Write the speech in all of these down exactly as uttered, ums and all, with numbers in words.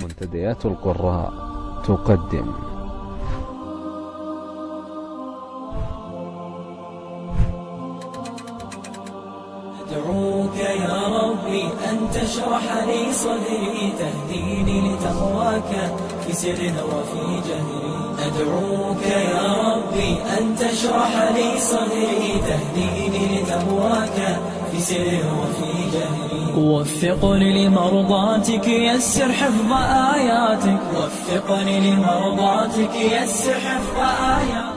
منتديات القراء تقدم أدعوك يا ربي أن تشرح لي صدري تهديني لتقواك في سر وفي جهري. أدعوك يا ربي أن تشرح لي صدري تهديني لتقواك في سر وفي جهري. وفقني لمرضاتك يسر حفظ آياتك. وفقني لمرضاتك يسر حفظ آياتك.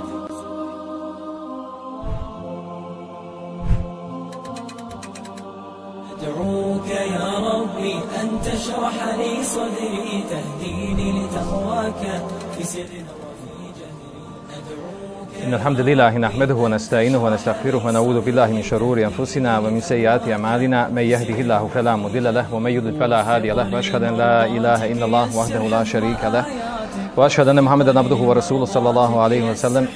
أدعوك يا ربي أن تشرح لي صدري تهديني لتقواك في سر وفي جهري. أدعوك إن الحمد لله نحمده ونستعينه ونستغفره ونعوذ بالله من شرور أنفسنا ومن سيئات أعمالنا من يهده الله فلا مضل له ومن يضلل فلا هادي له وأشهد أن لا إله إلا الله وحده لا شريك له وأشهد أن محمدا عبده ورسوله صلى الله عليه وسلم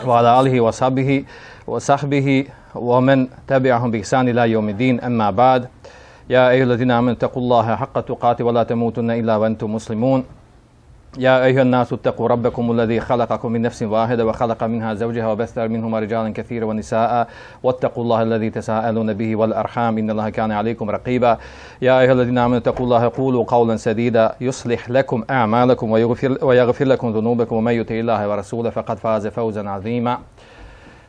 وعلى آله وصحبه وصحبه ومن تبعهم بإحسان إلى يوم الدين. أما بعد يا أيها الذين آمنوا اتقوا الله حق تقاته ولا تموتن إلا وأنتم مسلمون. يا أيها الناس اتقوا ربكم الذي خلقكم من نفس واحدة وخلق منها زوجها وبث منهما رجالا كثيرا ونساء واتقوا الله الذي تساءلون به والأرحام إن الله كان عليكم رقيبا. يا أيها الذين آمنوا اتقوا الله قولوا قولا سديدا يصلح لكم أعمالكم ويغفر, ويغفر لكم ذنوبكم ومن يطع الله ورسوله فقد فاز فوزا عظيما.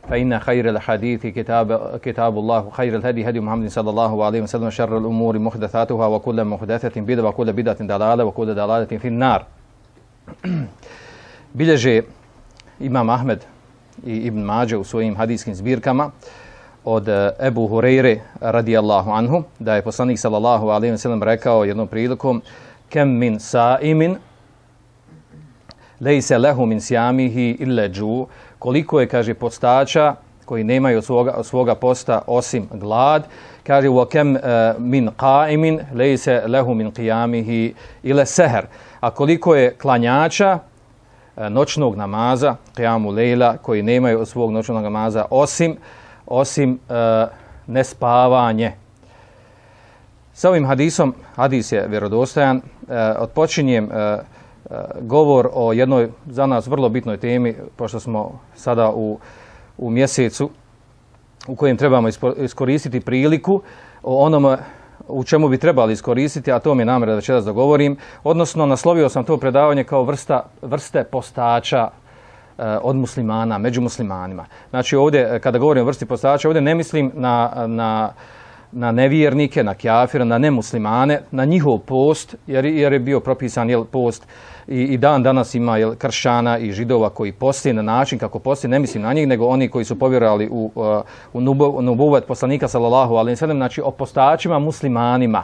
فإن خير الحديث كتاب كتاب الله وخير الهدي هدي محمد صلى الله عليه وسلم وشر الأمور محدثاتها وكل محدثة بدعة وكل بدعة ضلالة وكل ضلالة في النار. Bilježe Imam Ahmed i Ibn Mađe u svojim hadijskim zbirkama od Ebu Hureyre radijallahu anhu da je poslanik sallallahu alejhi ve sellem rekao jednom prilikom kem min saimin lejse lehu min sjamihi ille džu, koliko je, kaže, postača koji nemaju od svoga, od svoga posta osim glad. Kaže wa kem uh, min qaimin lejse lehu min qiyamihi ille seher. A koliko je klanjača uh, noćnog namaza, qiyamu lejla, koji nemaju od svog noćnog namaza osim, osim uh, nespavanje. Sa ovim hadisom, hadis je vjerodostojan, uh, odpočinjem uh, govor o jednoj za nas vrlo bitnoj temi, pošto smo sada u, u mjesecu u kojem trebamo iskoristiti priliku o onome u čemu bi trebali iskoristiti, a to mi je namjera da večeras dogovorim, odnosno naslovio sam to predavanje kao vrsta, vrste postača eh, od muslimana, među muslimanima. Znači ovdje, kada govorim o vrsti postača, ovdje ne mislim na, na na nevjernike, na kjafira, na nemuslimane, na njihov post, jer, jer je bio propisan jel, post i, i dan danas ima jel, kršćana i židova koji posti na način kako posti, ne mislim na njih, nego oni koji su povjerovali u, uh, u nubuvet poslanika sallallahu alejhi ve sellem, znači o postačima muslimanima.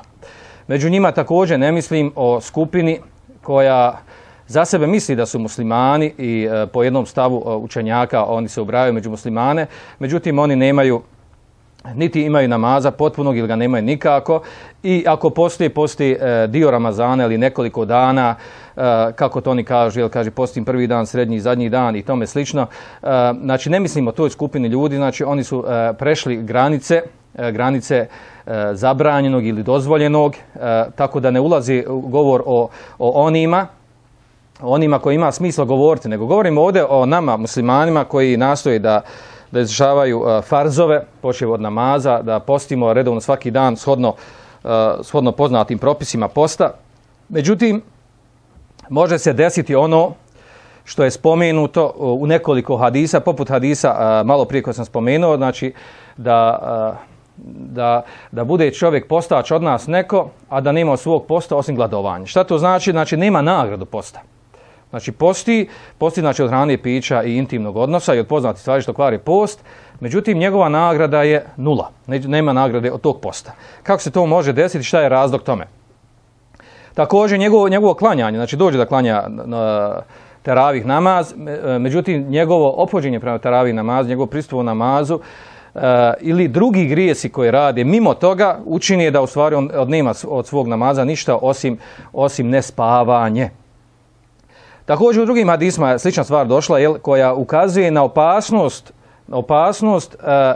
Među njima također ne mislim o skupini koja za sebe misli da su muslimani i uh, po jednom stavu uh, učenjaka oni se ubrajaju među muslimane, međutim oni nemaju niti imaju namaza potpunog ili ga nemaju nikako i ako postoji, postoji e, dio Ramazana ili nekoliko dana, e, kako to oni kažu, jel, kaže postim prvi dan, srednji, zadnji dan i tome slično. E, znači ne mislimo o toj skupini ljudi, znači oni su e, prešli granice, e, granice e, zabranjenog ili dozvoljenog, e, tako da ne ulazi govor o, o onima, onima koji ima smisla govoriti, nego govorimo ovdje o nama muslimanima koji nastoje da da izvršavaju uh, farzove, počev od namaza, da postimo redovno svaki dan shodno, uh, shodno poznatim propisima posta. Međutim, može se desiti ono što je spomenuto uh, u nekoliko hadisa, poput hadisa uh, malo prije koje sam spomenuo, znači da, uh, da, da bude čovjek postač od nas neko, a da nema svog posta osim gladovanja. Šta to znači? Znači nema nagradu posta. Znači posti, posti znači od hrane, pića i intimnog odnosa i od poznatih stvari što kvari post, međutim njegova nagrada je nula, nema nagrade od tog posta. Kako se to može desiti, šta je razlog tome? Također njegovo, njegovo klanjanje, znači dođe da klanja na teravih namaz, međutim njegovo ophođenje prema teravih namaz, njegovo pristup u namazu uh, ili drugi grijesi koje rade mimo toga učini je da u stvari on nema od svog namaza ništa osim, osim nespavanje. Također u drugim hadisma je slična stvar došla, jel, koja ukazuje na opasnost, opasnost e,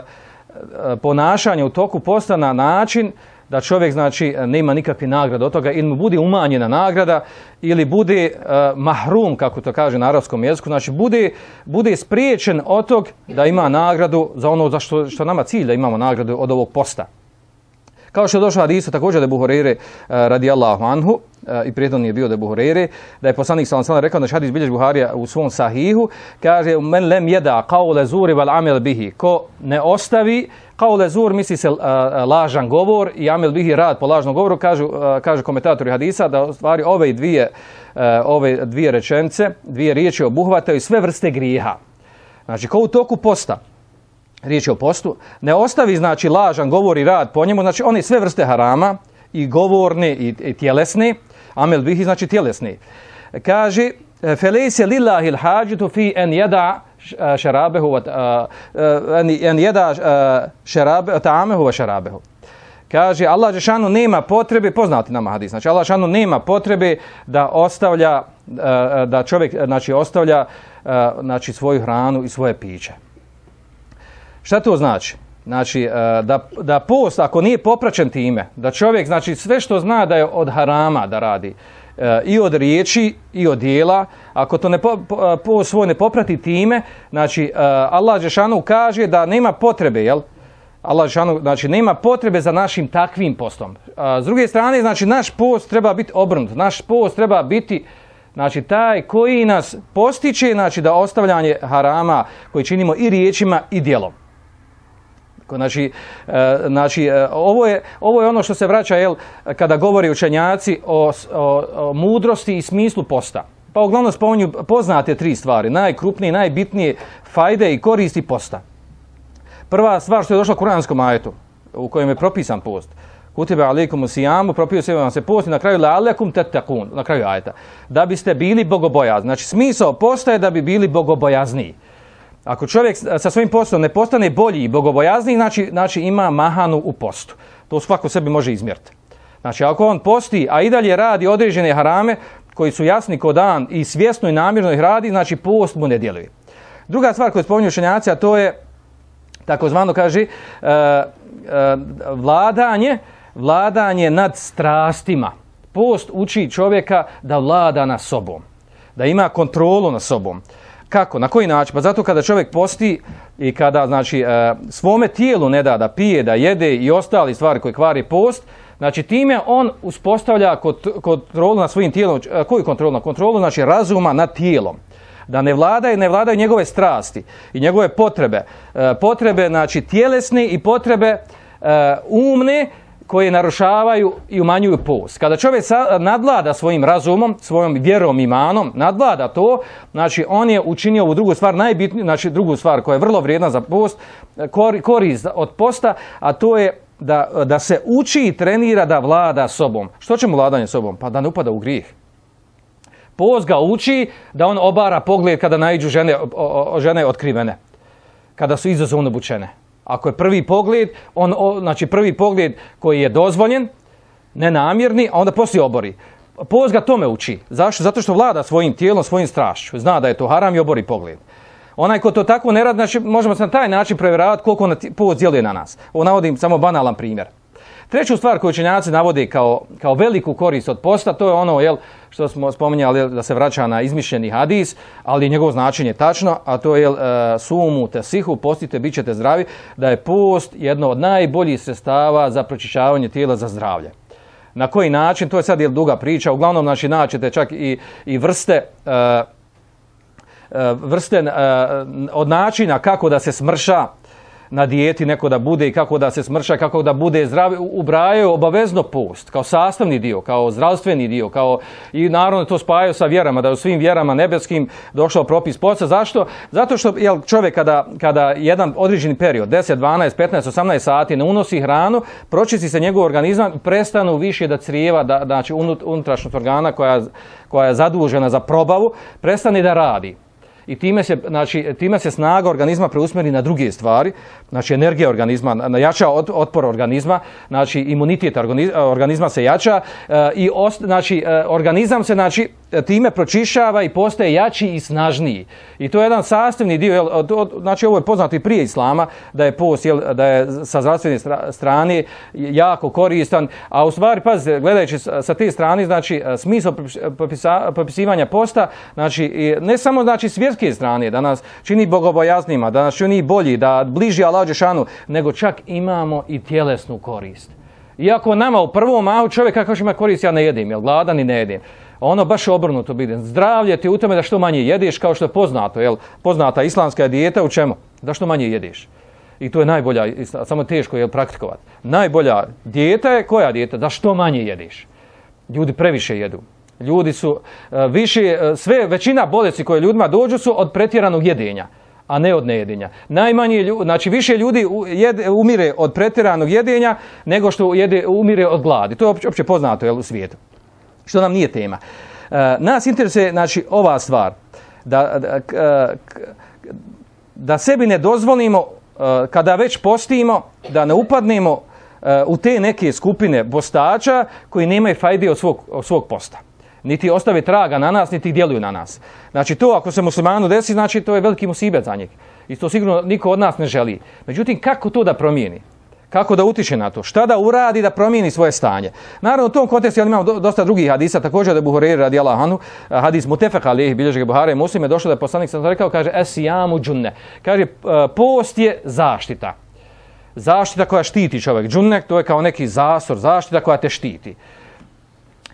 ponašanja u toku posta na način da čovjek znači nema nikakve nagrade od toga ili mu bude umanjena nagrada ili bude uh, mahrum, kako to kaže na arapskom jeziku, znači bude, bude spriječen od tog da ima nagradu za ono za što, što nama cilj da imamo nagradu od ovog posta. Kao što je došlo hadisu također da je Ebu Hureyre uh, radijallahu anhu uh, i prijedno je bio da je Ebu Hureyre, da je poslanik sallallahu alejhi ve sellem rekao da hadis bilježi Buharija u svom sahihu, kaže men lem yada qawla zuri wal amel bihi, ko ne ostavi qawla zur, misli se uh, lažan govor i amel bihi rad po lažnom govoru, kažu uh, kaže komentatori hadisa da u stvari ove dvije uh, ove dvije rečenice, dvije riječi obuhvataju sve vrste grijeha. Znači ko u toku posta, riječ je o postu, ne ostavi znači lažan govor i rad po njemu, znači one sve vrste harama, i govorne i, i tjelesne, amel bihi znači tjelesne. Kaže, felejse lillahil hađitu fi en jeda šarabehu, en jeda šarabehu, ta'amehu va šarabehu. Kaže, Allah džešanu nema potrebe, poznati nama hadis, znači Allah džešanu nema potrebe da ostavlja, da čovjek znači ostavlja znači svoju hranu i svoje piće. Šta to znači? Znači, da, da post, ako nije popraćen time, da čovjek, znači, sve što zna da je od harama da radi, i od riječi, i od dijela, ako to ne po, post svoj ne poprati time, znači, Allah džešanu kaže da nema potrebe, jel? Allah džešanu, znači, nema potrebe za našim takvim postom. S druge strane, znači, naš post treba biti obrnut, naš post treba biti, znači, taj koji nas postiče, znači, da ostavljanje harama koji činimo i riječima i djelom. Znači, e, znači e, ovo, je, ovo je ono što se vraća, jel, kada govori učenjaci o, o, o mudrosti i smislu posta. Pa uglavnom spominju poznate tri stvari, najkrupnije, najbitnije fajde i koristi posta. Prva stvar što je došla u kuranskom ajetu, u kojem je propisan post. Kutibe alejkum sijamu, propisuje vam se post i na kraju la'allakum tattaqun, na kraju ajeta. Da biste bili bogobojazni. Znači, smisao posta je da bi bili bogobojazniji. Ako čovjek sa svojim postom ne postane bolji i bogobojazniji, znači, znači ima mahanu u postu. To svako sebi može izmjeriti. Znači, ako on posti, a i dalje radi određene harame koji su jasni ko dan i svjesno i namjerno ih radi, znači post mu ne djeluje. Druga stvar koju spominju učenjaci, a to je takozvano, kaže, uh, uh, vladanje, vladanje nad strastima. Post uči čovjeka da vlada nad sobom, da ima kontrolu nad sobom. Kako? Na koji način? Pa zato kada čovjek posti i kada, znači, e, svome tijelu ne da da pije, da jede i ostali stvari koje kvari post, znači time on uspostavlja kontrolu nad svojim tijelom. Koju kontrolu? Na kontrolu, znači, razuma nad tijelom. Da ne vladaju, ne vladaju njegove strasti i njegove potrebe. E, potrebe, znači, tjelesne i potrebe e, umne, koje narušavaju i umanjuju post. Kada čovjek nadvlada svojim razumom, svojom vjerom, imanom, nadvlada to, znači on je učinio ovu drugu stvar, najbitniju, znači drugu stvar koja je vrlo vrijedna za post, korist od posta, a to je da, da se uči i trenira da vlada sobom. Što će mu vladanje sobom? Pa da ne upada u grijeh. Post ga uči da on obara pogled kada naiđu žene, o, o, žene otkrivene, kada su izazovno obučene. Ako je prvi pogled, on, o, znači prvi pogled koji je dozvoljen, nenamjerni, a onda poslije obori. Post ga tome uči. Zašto? Zato što vlada svojim tijelom, svojim strašću. Zna da je to haram i obori pogled. Onaj ko to tako ne radi, znači možemo se na taj način provjeravati koliko post djeluje na nas. Ovo navodim samo banalan primjer. Treću stvar koju učenjaci navode kao, kao veliku korist od posta, to je ono, jel, što smo spominjali, jel, da se vraća na izmišljeni hadis, ali njegovo značenje je tačno, a to je, jel, sumu tesihu, postite, bit ćete zdravi, da je post jedno od najboljih sredstava za pročišćavanje tijela za zdravlje. Na koji način, to je sad, jel, duga priča, uglavnom, znači, naćete čak i, i vrste, uh, vrste uh, od načina kako da se smrša na dijeti neko da bude i kako da se smrša, kako da bude zdrav, ubrajaju obavezno post kao sastavni dio, kao zdravstveni dio, kao i naravno to spajaju sa vjerama, da je u svim vjerama nebeskim došao propis posta. Zašto? Zato što, jel, čovjek kada, kada jedan određeni period, deset, dvanaest, petnaest, osamnaest sati ne unosi hranu, pročisti se njegov organizam, prestanu više da crijeva, da, znači unutrašnjost organa koja, koja je zadužena za probavu, prestane da radi. I time se, znači, time se snaga organizma preusmeri na druge stvari, znači energija organizma, jača otpor organizma, znači imunitet organizma se jača e, i ost, znači, organizam se, znači, time pročišava i postaje jači i snažniji. I to je jedan sastavni dio, jel, znači ovo je poznato i prije islama, da je post, jel, da je sa zdravstvene strane jako koristan, a u stvari, pazite, gledajući sa te strane, znači smisao propisivanja posta, znači ne samo znači svjetske strane, da nas čini bogobojaznima, da nas čini bolji, da bliži Allahu dželešanu, nego čak imamo i tjelesnu korist. Iako nama u prvom mahu čovjek kako ima korist, ja ne jedem, jel gladan i ne jedem. Ono baš obrnuto bide. Zdravlje ti u tome da što manje jedeš, kao što je poznato, jel? Poznata islamska dijeta u čemu? Da što manje jedeš. I to je najbolja, samo teško je praktikovati. Najbolja dijeta je koja dijeta? Da što manje jedeš. Ljudi previše jedu. Ljudi su više, sve, većina bolesti koje ljudima dođu su od pretjeranog jedenja, a ne od nejedenja. Najmanje ljudi, znači više ljudi jede, umire od pretjeranog jedenja nego što jede, umire od gladi. To je opće poznato, jel, u svijetu. Što nam nije tema. E, nas interesuje, znači, ova stvar, da, da, da sebi ne dozvolimo, kada već postimo, da ne upadnemo u te neke skupine postača koji nemaju fajde od svog, od svog posta. Niti ostave traga na nas, niti djeluju na nas. Znači, to ako se muslimanu desi, znači, to je veliki musibet za njeg. I to sigurno niko od nas ne želi. Međutim, kako to da promijeni? Kako da utiče na to? Šta da uradi da promijeni svoje stanje? Naravno, u tom kontekstu ja imamo dosta drugih hadisa, također da je Buhureyre radijallahu anhu, hadis mutefek alejhi, bilježi ga Buhari i Muslim, je došlo da je poslanik sam rekao, kaže, esijamu džunne. Kaže, post je zaštita. Zaštita koja štiti čovjek. Džunne, to je kao neki zasor, zaštita koja te štiti.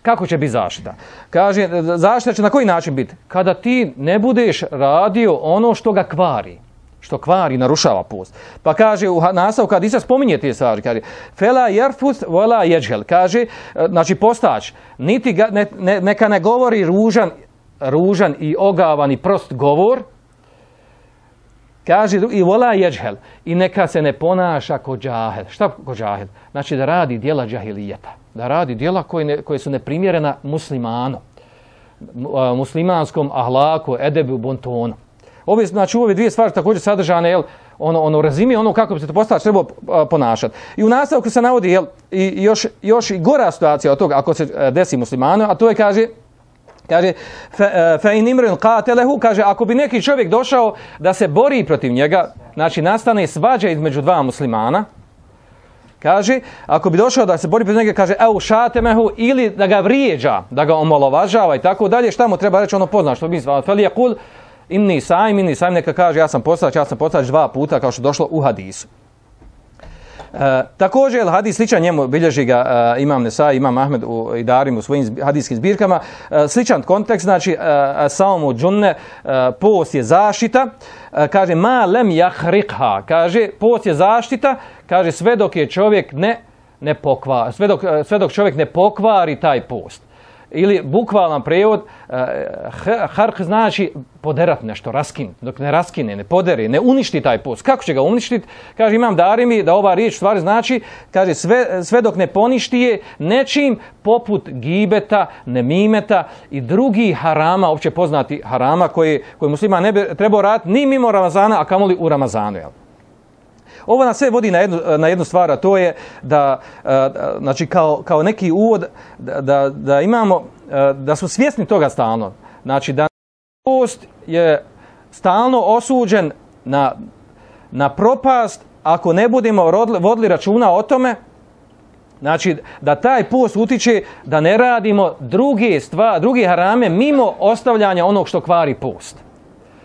Kako će biti zaštita? Kaže, zaštita će na koji način biti? Kada ti ne budeš radio ono što ga kvari. Što kvari, narušava post. Pa kaže u nastavku kad Isa spominje te stvari, kaže fela jerfus wala yajhal, kaže znači postač niti ga, ne, ne, neka ne govori ružan, ružan i ogavan i prost govor. Kaže i wala yajhal, i neka se ne ponaša ko džahil. Šta ko džahil? Znači da radi djela džahilijeta, da radi djela koje, ne, koje su neprimjerena muslimanu, muslimanskom ahlaku, edebu, bontonu. Ove, znači, ove dvije stvari također sadržane, jel, ono, ono razimi, ono kako bi se to postač trebao ponašati. I u nastavku se navodi, jel, i još, još i gora situacija od toga, ako se desi muslimanu, a to je, kaže, kaže, fa in imrun qatalehu, kaže, ako bi neki čovjek došao da se bori protiv njega, znači nastane svađa između dva muslimana, kaže, ako bi došao da se bori protiv njega, kaže, eu šatemehu, ili da ga vrijeđa, da ga omalovažava i tako dalje, šta mu treba reći, ono pozna, što bi se fel yaqul inni sajm, inni sajm, neka kaže ja sam postač, ja sam postač dva puta kao što došlo u hadisu. E, također hadis sličan njemu bilježi ga e, imam Nesai, imam Ahmed u Idarim u svojim hadijskim zbirkama. E, sličan kontekst, znači e, saumu džunne, e, post je zaštita, e, kaže ma lem jahriqha, kaže post je zaštita, kaže sve dok je čovjek ne, ne pokvari, sve dok, sve dok čovjek ne pokvari taj post. Ili bukvalan prevod, hark znači poderat nešto, raskin. Dok ne raskine, ne poderi, ne uništi taj post. Kako će ga uništiti? Kaže, imam Darimi da ova riječ stvari znači, kaže, sve, sve dok ne poništi je nečim poput gibeta, nemimeta i drugih harama, opće poznati harama koji, koji muslima ne bi trebao raditi ni mimo Ramazana, a kamoli u Ramazanu. Jel? Ovo nas sve vodi na jednu, na jednu stvar, a to je da, znači kao, kao neki uvod, da, da, da imamo, da smo svjesni toga stalno. Znači da post je stalno osuđen na, na propast ako ne budemo rodli, vodili računa o tome, znači da taj post utiče da ne radimo druge stvari, druge harame mimo ostavljanja onog što kvari post.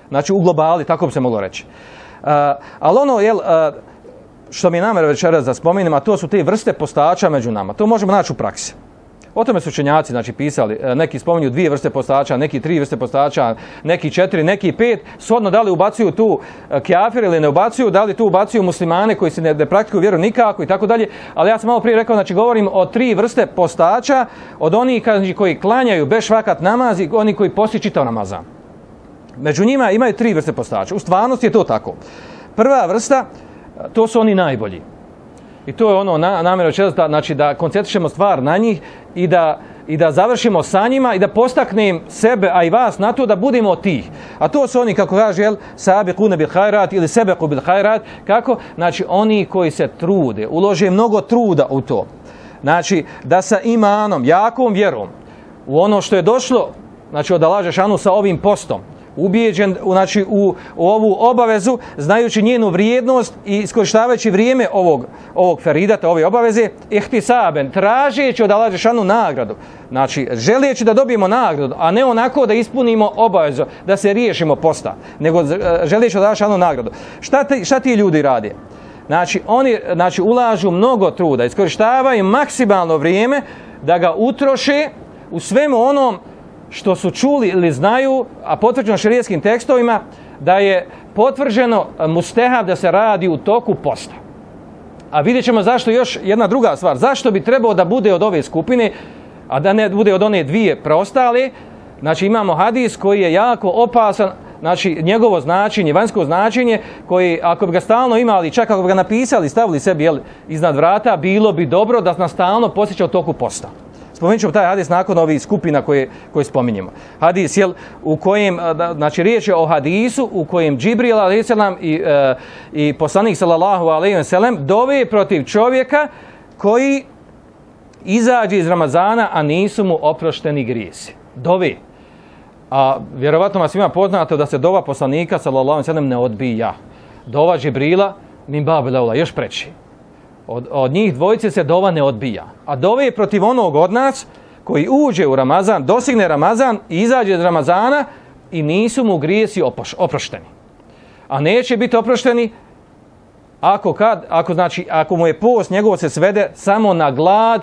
Znači u globali, tako bi se moglo reći. Uh, ali ono, jel, uh, što mi je namjera večeras da spomenem, a to su te vrste postača među nama. To možemo naći u praksi. O tome su učenjaci znači, pisali. Neki spominju dvije vrste postača, neki tri vrste postača, neki četiri, neki pet. Shodno da li ubacuju tu kjafir ili ne ubacuju, da li tu ubacuju muslimane koji se ne, ne praktikuju vjeru nikako i tako dalje. Ali ja sam malo prije rekao, znači govorim o tri vrste postača, od onih znači, koji klanjaju bez švakat namaz i oni koji posti čitav namazan. Među njima imaju tri vrste postača. U stvarnosti je to tako. Prva vrsta, to su oni najbolji. I to je ono na, namjera večeras, znači da koncentrišemo stvar na njih i da, i da završimo sa njima i da postaknem sebe, a i vas na to da budemo od tih. A to su oni, kako kaže, jel, sabiquna bil hajrat ili sebequ bil hajrat, kako? Znači oni koji se trude, ulože mnogo truda u to. Znači da sa imanom, jakom vjerom, u ono što je došlo znači od Allaha dželešanu sa ovim postom, ubijeđen znači, u, u ovu obavezu, znajući njenu vrijednost i iskorištavajući vrijeme ovog, ovog feridata, ove obaveze, ihtisaben, tražeći od Allaha dželešanu nagradu. Znači, želeći da dobijemo nagradu, a ne onako da ispunimo obavezu, da se riješimo posta, nego želeći od Allaha dželešanu nagradu. Šta, te, šta ti ljudi rade? Znači, oni znači, ulažu mnogo truda, iskorištavaju maksimalno vrijeme da ga utroše u svemu onom što su čuli ili znaju, a potvrđeno šerijskim tekstovima, da je potvrđeno mustehab da se radi u toku posta. A vidjet ćemo zašto još jedna druga stvar. Zašto bi trebao da bude od ove skupine, a da ne bude od one dvije preostale. Znači imamo hadis koji je jako opasan, znači njegovo značenje, vanjsko značenje, koji ako bi ga stalno imali, čak ako bi ga napisali, stavili sebi jel, iznad vrata, bilo bi dobro da nas stalno posjeća u toku posta. Spomenut ćemo taj hadis nakon ovih skupina koje, koje spominjemo. Hadis, jel, u kojem, znači riječ je o hadisu u kojem Džibril alejhi selam i, e, i poslanik sallallahu alejhi ve sellem dove protiv čovjeka koji izađe iz Ramazana, a nisu mu oprošteni grijesi. Dove. A vjerovatno vas svima poznato da se dova poslanika sallallahu alejhi ve sellem ne odbija. Dova Džibrila min babil aula, još preći. Od, od njih dvojice se dova ne odbija. A dove je protiv onog od nas koji uđe u Ramazan, dosigne Ramazan i izađe iz Ramazana i nisu mu grijesi opoš, oprošteni. A neće biti oprošteni ako, kad, ako, znači, ako mu je post njegov se svede samo na glad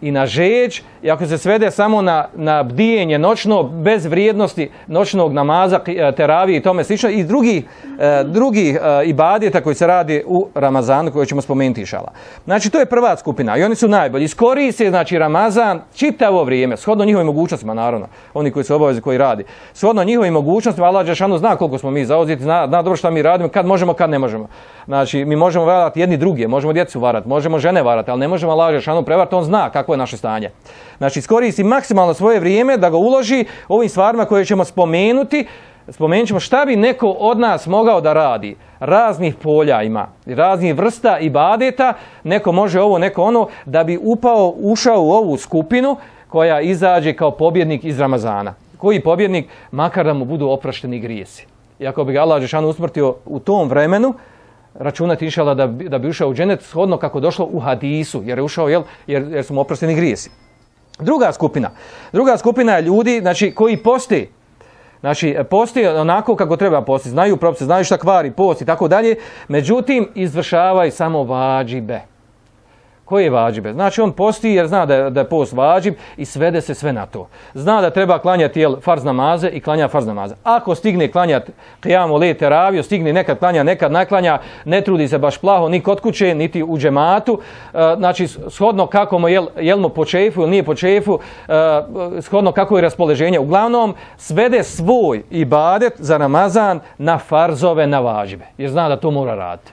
i na žeđ, i ako se svede samo na, na bdijenje noćno, bez vrijednosti noćnog namaza, teravije i tome slično, i drugih, e, drugih e, ibadeta koji se radi u Ramazanu, koje ćemo spomenuti inšallah. Znači, to je prva skupina i oni su najbolji. Iskoriste, znači, Ramazan čitavo vrijeme, shodno njihovim mogućnostima, naravno, oni koji su obavezi, koji radi. Shodno njihovim mogućnostima, Allah dželešanu zna koliko smo mi zauzeti, zna, zna dobro šta mi radimo, kad možemo, kad ne možemo. Znači, mi možemo varati jedni druge, možemo djecu varati, možemo žene varati, ali ne možemo Allah dželešanu prevarati, on zna kako je naše stanje. Znači, iskoristi maksimalno svoje vrijeme da ga uloži ovim stvarima koje ćemo spomenuti. Spomenut ćemo šta bi neko od nas mogao da radi. Raznih polja ima, raznih vrsta ibadeta, neko može ovo, neko ono, da bi upao, ušao u ovu skupinu koja izađe kao pobjednik iz Ramazana. Koji pobjednik? Makar da mu budu oprošteni grijesi. I ako bi ga Allah dželešanu usmrtio u tom vremenu, računati inšallah da bi, da bi ušao u dženet shodno kako došlo u hadisu, jer je ušao, jel, jer, jer su mu oprošteni grijesi. Druga skupina. Druga skupina je ljudi, znači, koji poste. Znači, poste onako kako treba postiti. Znaju propise, znaju šta kvari post i tako dalje. Međutim, izvršavaju samo vađibe. Koje je vađibe? Znači, on posti jer zna da je, da je post vađib i svede se sve na to. Zna da treba klanjati jel, farz namaze i klanja farz namaze. Ako stigne klanjati qijamu lejl teraviju, stigne nekad klanja, nekad naklanja, ne trudi se baš plaho ni kod kuće, niti u džematu. E, znači, shodno kako mu jel, jel mu po čefu ili nije po čefu, e, shodno kako je raspoloženje. Uglavnom, svede svoj ibadet za Ramazan na farzove, na vađibe. Jer zna da to mora raditi.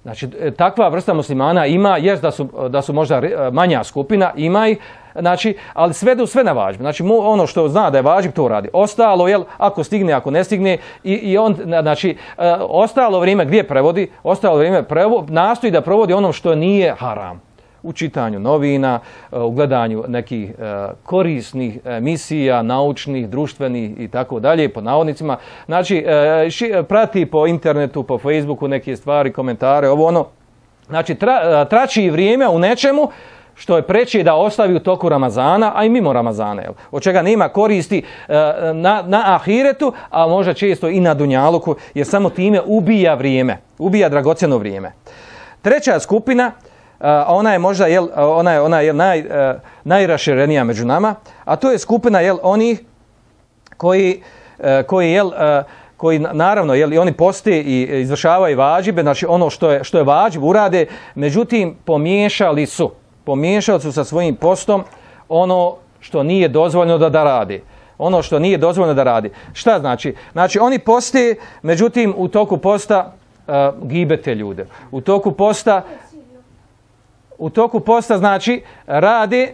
Znači, takva vrsta muslimana ima, jest da su, da su možda manja skupina, ima ih, znači, ali svedu sve na vađib. Znači, mu, ono što zna da je vađib, to radi. Ostalo, jel, ako stigne, ako ne stigne, i, i on, znači, ostalo vrijeme gdje prevodi, ostalo vrijeme prevodi, nastoji da provodi ono što nije haram. U čitanju novina, u gledanju nekih korisnih emisija, naučnih, društvenih i tako dalje, po navodnicima. Znači, prati po internetu, po Facebooku neke stvari, komentare, ovo ono. Znači, tra, trači vrijeme u nečemu što je preče da ostavi u toku Ramazana, a i mimo Ramazana, jel? Od čega nema koristi na, na ahiretu, a možda često i na dunjaluku, jer samo time ubija vrijeme, ubija dragocjeno vrijeme. Treća skupina, Uh, ona je možda jel, ona je ona je naj uh, najraširenija među nama, a to je skupina jel onih koji uh, koji jel uh, koji naravno jel i oni poste i izvršavaju vađibe, znači ono što je što je vađib urade, međutim pomiješali su pomiješali su sa svojim postom ono što nije dozvoljeno da da radi. Ono što nije dozvoljeno da radi. Šta znači? Znači oni poste, međutim u toku posta uh, gibete ljude. U toku posta U toku posta, znači, rade,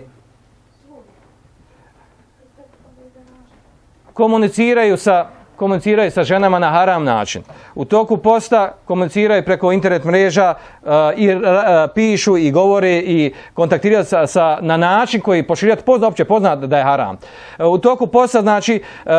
komuniciraju sa, komuniciraju sa ženama na haram način. U toku posta komuniciraju preko internet mreža uh, i uh, pišu i govore i kontaktiraju sa, sa, na način koji poširijat pozna, opće pozna da je haram. Uh, u toku posta znači uh,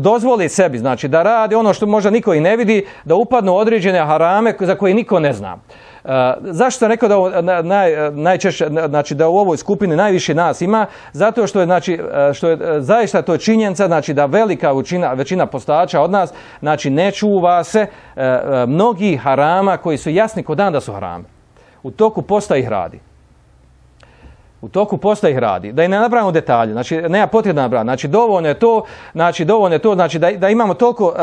dozvoli sebi znači da radi ono što možda niko i ne vidi, da upadnu određene harame za koje niko ne zna. Uh, zašto sam rekao da ovo, naj, najčešće, znači da u ovoj skupini najviše nas ima? Zato što je, znači, što je zaista to činjenica, znači da velika većina, većina postača od nas, znači ne čuva se uh, mnogi harama koji su jasni ko dan da su harami. U toku posta ih radi. U toku posta ih radi. Da i ne napravimo detalje, znači nema potrebe nabrati. Znači dovoljno je to, znači dovoljno je to, znači da, da imamo toliko, uh,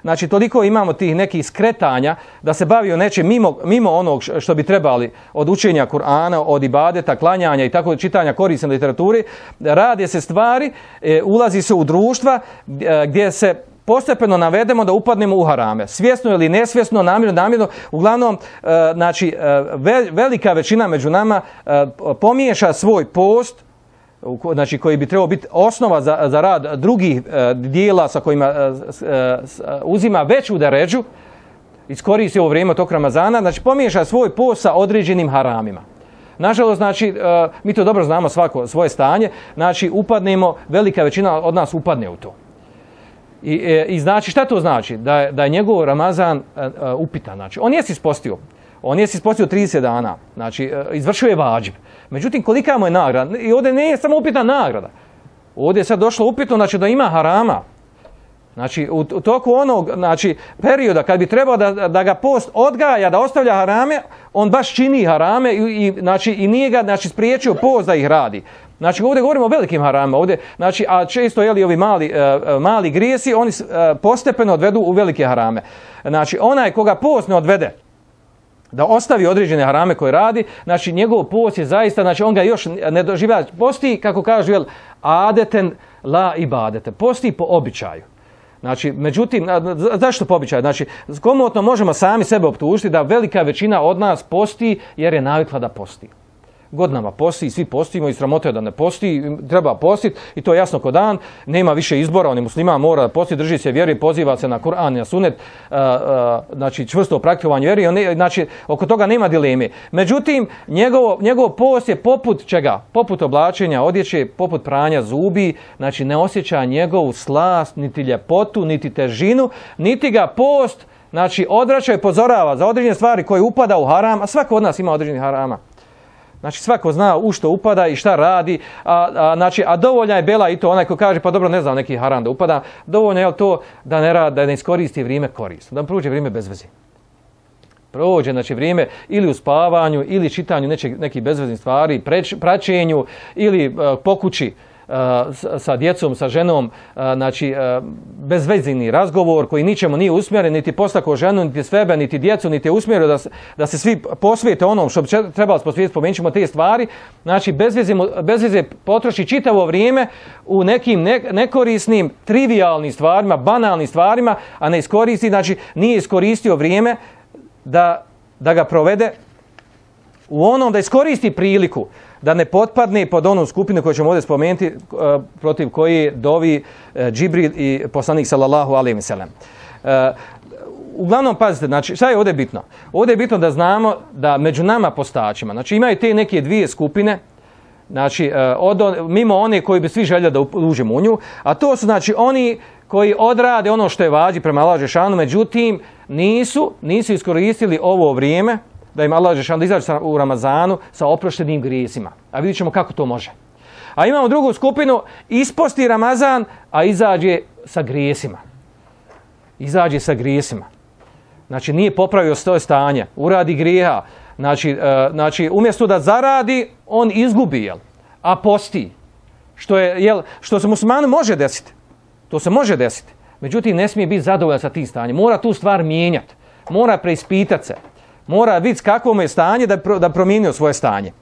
znači toliko imamo tih nekih skretanja da se bavio nečim mimo, mimo onog što bi trebali od učenja Kur'ana, od ibadeta, klanjanja i tako čitanja korisne literature. Rade se stvari, e, ulazi se u društva e, gdje se postepeno navedemo da upadnemo u harame. Svjesno ili nesvjesno, namjerno, namjerno. Uglavnom, e, znači, e, ve, velika većina među nama e, pomiješa svoj post, znači koji bi trebao biti osnova za, za rad drugih e, dijela sa kojima e, e, uzima veću deređu, iskoristi ovo vrijeme tog Ramazana, znači pomiješa svoj post sa određenim haramima. Nažalost, znači, e, mi to dobro znamo svako svoje stanje, znači upadnemo, velika većina od nas upadne u to. I, i znači šta to znači? Da je, da je njegov Ramazan uh, uh, upitan. Znači, on jesi ispostio. On jesi ispostio trideset dana. Znači, uh, izvršio je vađib. Međutim, kolika mu je nagrada? I ovdje nije samo upitna nagrada. Ovdje je sad došlo upitno, znači, da ima harama. Znači, u, u toku onog znači, perioda kad bi trebao da, da ga post odgaja, da ostavlja harame, on baš čini harame i, i, znači, i nije ga znači, spriječio post da ih radi. Znači ovdje govorimo o velikim haramima, ovdje, znači, a često jeli ovi mali, uh, mali grijesi, oni uh, postepeno odvedu u velike harame. Znači onaj koga post ne odvede, da ostavi određene harame koje radi, znači njegov post je zaista, znači on ga još ne doživlja, posti, kako kažu, jel, adeten la ibadete, posti po običaju. Znači, međutim, zašto po običaju? Znači, komotno možemo sami sebe optužiti da velika većina od nas posti jer je navikla da posti. Godinama posti, svi postimo i sramote da ne posti, treba postiti i to je jasno ko dan, nema više izbora, on je musliman, mora da posti, drži se vjeri, poziva se na Kur'an i na sunet, uh, uh, znači čvrsto praktikovanje vjeri, on ne, znači oko toga nema dileme. Međutim, njegov, njegov post je poput čega? Poput oblačenja odjeće, poput pranja zubi, znači ne osjeća njegovu slast, niti ljepotu, niti težinu, niti ga post, znači odvraća i pozorava za određene stvari koje upada u haram, a svako od nas ima određenih harama. Znači svako zna u što upada i šta radi, a, a, znači, a dovoljna je bela i to onaj ko kaže pa dobro ne znam neki haram da upada, dovoljno je to da ne radi, da ne iskoristi vrijeme korisno, da prođe vrijeme bez veze. Prođe znači vrijeme ili u spavanju ili čitanju nečeg, nekih bezveznih stvari, preč, praćenju ili uh, po kući uh, sa, sa djecom, sa ženom, uh, znači uh, bezvezini razgovor koji ničemu nije usmjeren, niti postako ženu, niti sebe, niti djecu, niti je usmjerio da se, da se svi posvijete onom što bi trebalo posvijeti, spomenut ćemo te stvari, znači bez veze potroši čitavo vrijeme u nekim ne, nekorisnim, trivialnim stvarima, banalnim stvarima, a ne iskoristi, znači nije iskoristio vrijeme da, da ga provede u onom, da iskoristi priliku da ne potpadne pod onu skupinu koju ćemo ovdje spomenuti, uh, protiv koji dovi uh, Džibril i poslanik sallallahu alejhi ve sellem. Uh, uglavnom, pazite, znači, šta je ovdje bitno? Ovdje je bitno da znamo da među nama postačima, znači imaju te neke dvije skupine, znači, uh, od, mimo one koji bi svi željeli da uđemo u nju, a to su, znači, oni koji odrade ono što je vađi prema Allahu dželešanu, međutim, nisu, nisu iskoristili ovo vrijeme, da im Allah dželešanu izađe u Ramazanu sa oproštenim grijesima. A vidjet ćemo kako to može. A imamo drugu skupinu, isposti Ramazan, a izađe sa grijesima. Izađe sa grijesima. Znači nije popravio svoje stanje, uradi grijeha. Znači, uh, znači umjesto da zaradi, on izgubi, jel? A posti. Što, je, jel, što se muslimanu može desiti. To se može desiti. Međutim, ne smije biti zadovoljan sa tim stanjem. Mora tu stvar mijenjati. Mora preispitati se. Mora vidjeti kakvo mu je stanje da, pro, da promijenio svoje stanje.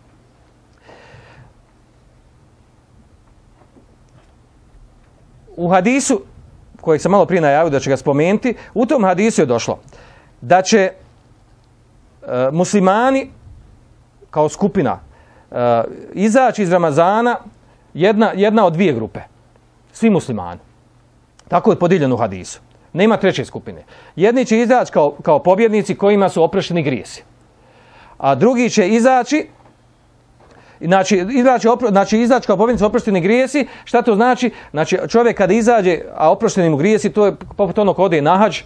U hadisu, kojeg sam malo prije najavio da će ga spomenuti, u tom hadisu je došlo da će e, muslimani kao skupina e, izaći iz Ramazana jedna, jedna od dvije grupe. Svi muslimani. Tako je podijeljeno u hadisu. Nema treće skupine. Jedni će izaći kao, kao pobjednici kojima su oprošteni grijesi. A drugi će izaći, znači, izaći, opro, znači izaći kao pobjednici oprošteni grijesi. Šta to znači? Znači čovjek kada izađe, a oprošteni mu grijesi, to je poput onog ode na hadž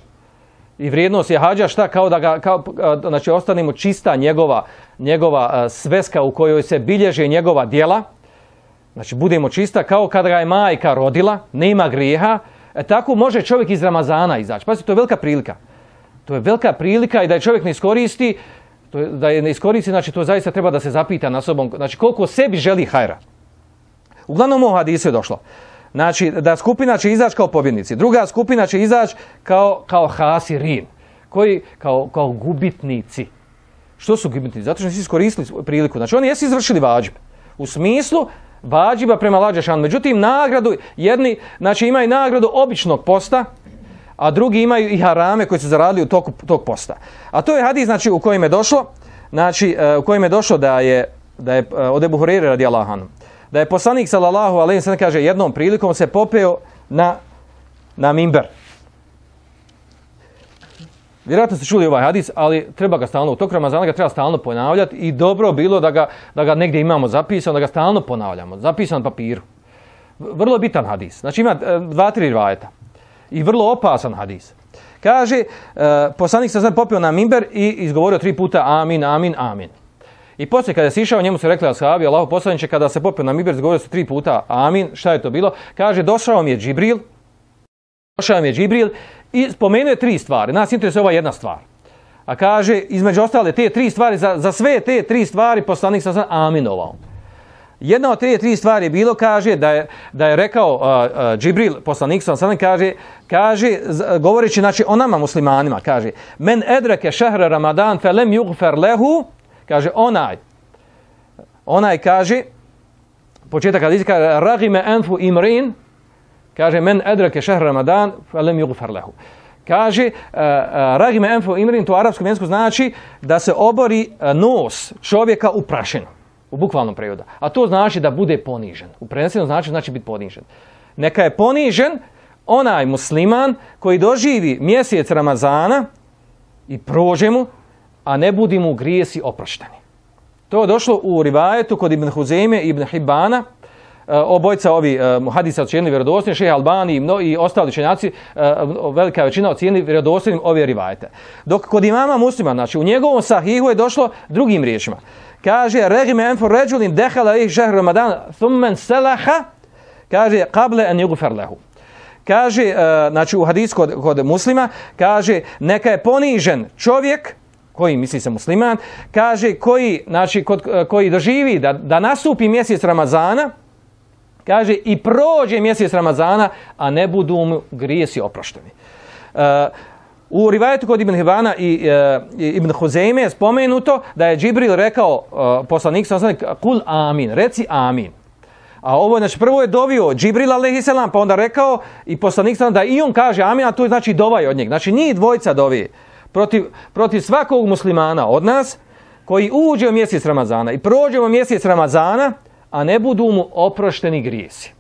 i vrijednost je hađa, šta kao da ga, kao, znači ostanemo čista njegova, njegova sveska u kojoj se bilježe njegova djela. Znači budemo čista kao kada ga je majka rodila, nema grijeha. E, tako može čovjek iz Ramazana izaći. Pazite, to je velika prilika. To je velika prilika i da je čovjek ne iskoristi, to je, da je ne iskoristi, znači to zaista treba da se zapita na sobom, znači koliko sebi želi hajra. Uglavnom u hadisu je došlo. Znači da skupina će izaći kao pobjednici, druga skupina će izaći kao, kao hasirin, koji kao, kao gubitnici. Što su gubitnici? Zato što nisu iskoristili priliku. Znači oni jesu izvršili vađib. U smislu vađiba prema Allah dželešanu. Međutim, nagradu, jedni znači, imaju nagradu običnog posta, a drugi imaju i harame koji su zaradili u toku tog posta. A to je hadis znači, u kojem je došlo, znači, u kojem je došlo da je, da je od Ebu Hurajre radijallahu anhu, da je poslanik sallallahu alejhi ve sellem kaže jednom prilikom se popeo na, na mimber. Vjerojatno ste čuli ovaj hadis, ali treba ga stalno, u toku Ramazana ga treba stalno ponavljati i dobro bilo da ga, da ga negdje imamo zapisano, da ga stalno ponavljamo, zapisan na papiru. Vrlo bitan hadis. Znači ima dva, tri rivajeta. I vrlo opasan hadis. Kaže, uh, poslanik se sad popeo na mimber i izgovorio tri puta amin, amin, amin. I poslije kada je sišao, njemu su rekli ashabi, Allahu poslaniče, kada se popeo na mimber, izgovorio se tri puta amin. Šta je to bilo? Kaže, došao mi je Džibril, došao mi je Džibril i spomenuo je tri stvari. Nas interesuje ova jedna stvar. A kaže, između ostale te tri stvari, za, za sve te tri stvari poslanik se sad aminovao. Jedna od te tri stvari je bilo, kaže, da je, da je rekao uh, uh, Džibril, poslanik sallallahu alejhi ve sellem, kaže, kaže, govoreći znači, o nama muslimanima, kaže, men edreke šehre Ramadan fe lem yugfer lehu, kaže, onaj, onaj kaže, početak hadisa, kaže, ragime enfu imrin, kaže, men edreke šehre Ramadan fe lem yugfer lehu. Kaže, uh, uh, ragime enfu imrin, to u arapskom jeziku znači da se obori uh, nos čovjeka u prašinu. U bukvalnom prevodu. A to znači da bude ponižen. U prenesenom znači znači biti ponižen. Neka je ponižen onaj musliman koji doživi mjesec Ramazana i prođe mu, a ne budi mu grijesi oprošteni. To je došlo u rivajetu kod Ibn Huzejme i Ibn Hibana. Obojca ovi uh, hadisa ocijenili vjerodostojnim, Šejh Albani i, mno, i ostali učenjaci, uh, velika većina ocijenili vjerodostojnim ove rivajete. Dok kod imama Muslima, znači u njegovom sahihu je došlo drugim riječima. Kaže, regime enfor ređulin dehala ih šehr Ramadan thummen selaha, kaže, kable en yugfer lehu. Kaže, uh, znači u hadisu kod, kod Muslima, kaže, neka je ponižen čovjek, koji misli se musliman, kaže, koji, znači, kod, koji doživi da, da nastupi mjesec Ramazana, kaže, i prođe mjesec Ramazana, a ne budu mu grijesi oprošteni. Uh, u rivajetu kod Ibn Hibana i uh, Ibn Huzejme je spomenuto da je Džibril rekao, uh, poslanik sallallahu alejhi ve sellem, kul amin, reci amin. A ovo, znači, prvo je dovio Džibril alejhi selam, pa onda rekao i poslanik sallallahu alejhi ve sellem da i on kaže amin, a to je znači dovaj od njega. Znači, njih dvojica dovi protiv, protiv svakog muslimana od nas koji uđe u mjesec Ramazana i prođe u mjesec Ramazana, a ne budu mu oprošteni grijesi.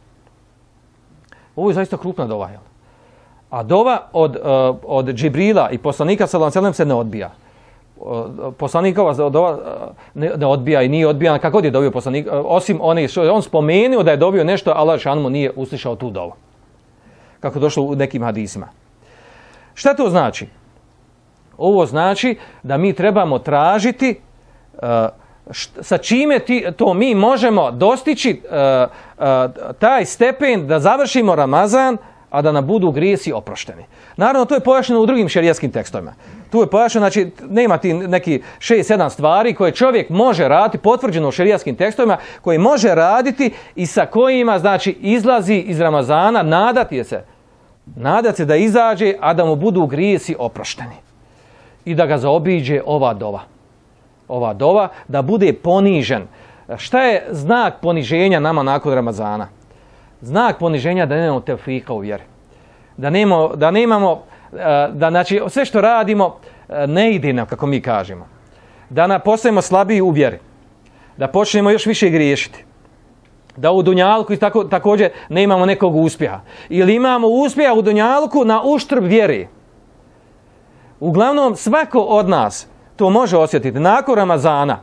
Ovo je zaista krupna dova. Jel? A dova od, uh, od Džibrila i poslanika sallallahu alejhi ve sellem se ne odbija. Uh, poslanikova dova uh, ne, ne odbija i nije odbijana kako je dovio poslanik, uh, osim one što je on spomenuo da je dovio nešto, Allah dželle mu nije uslišao tu dovu. Kako došlo u nekim hadisima. Šta to znači? Ovo znači da mi trebamo tražiti uh, sa čime ti, to mi možemo dostići uh, uh, taj stepen da završimo Ramazan, a da nam budu grijesi oprošteni. Naravno, to je pojašnjeno u drugim šerijskim tekstovima. Tu je pojašnjeno, znači, nema ti neki šest sedam stvari koje čovjek može raditi, potvrđeno u šerijskim tekstovima, koji može raditi i sa kojima, znači, izlazi iz Ramazana, nadati se, nadati se da izađe, a da mu budu grijesi oprošteni. I da ga zaobiđe ova dova. Ova dova, da bude ponižen. Šta je znak poniženja nama nakon Ramazana? Znak poniženja da nemamo tevfika u vjeri. Da nemamo, da nemamo, da znači sve što radimo ne ide nam kako mi kažemo. Da nam postajemo slabiji u vjeri. Da počnemo još više griješiti. da u dunjalku tako, također ne imamo nekog uspjeha. Ili imamo uspjeha u dunjalku na uštrb vjere. Uglavnom, svako od nas to može osjetiti nakon Ramazana.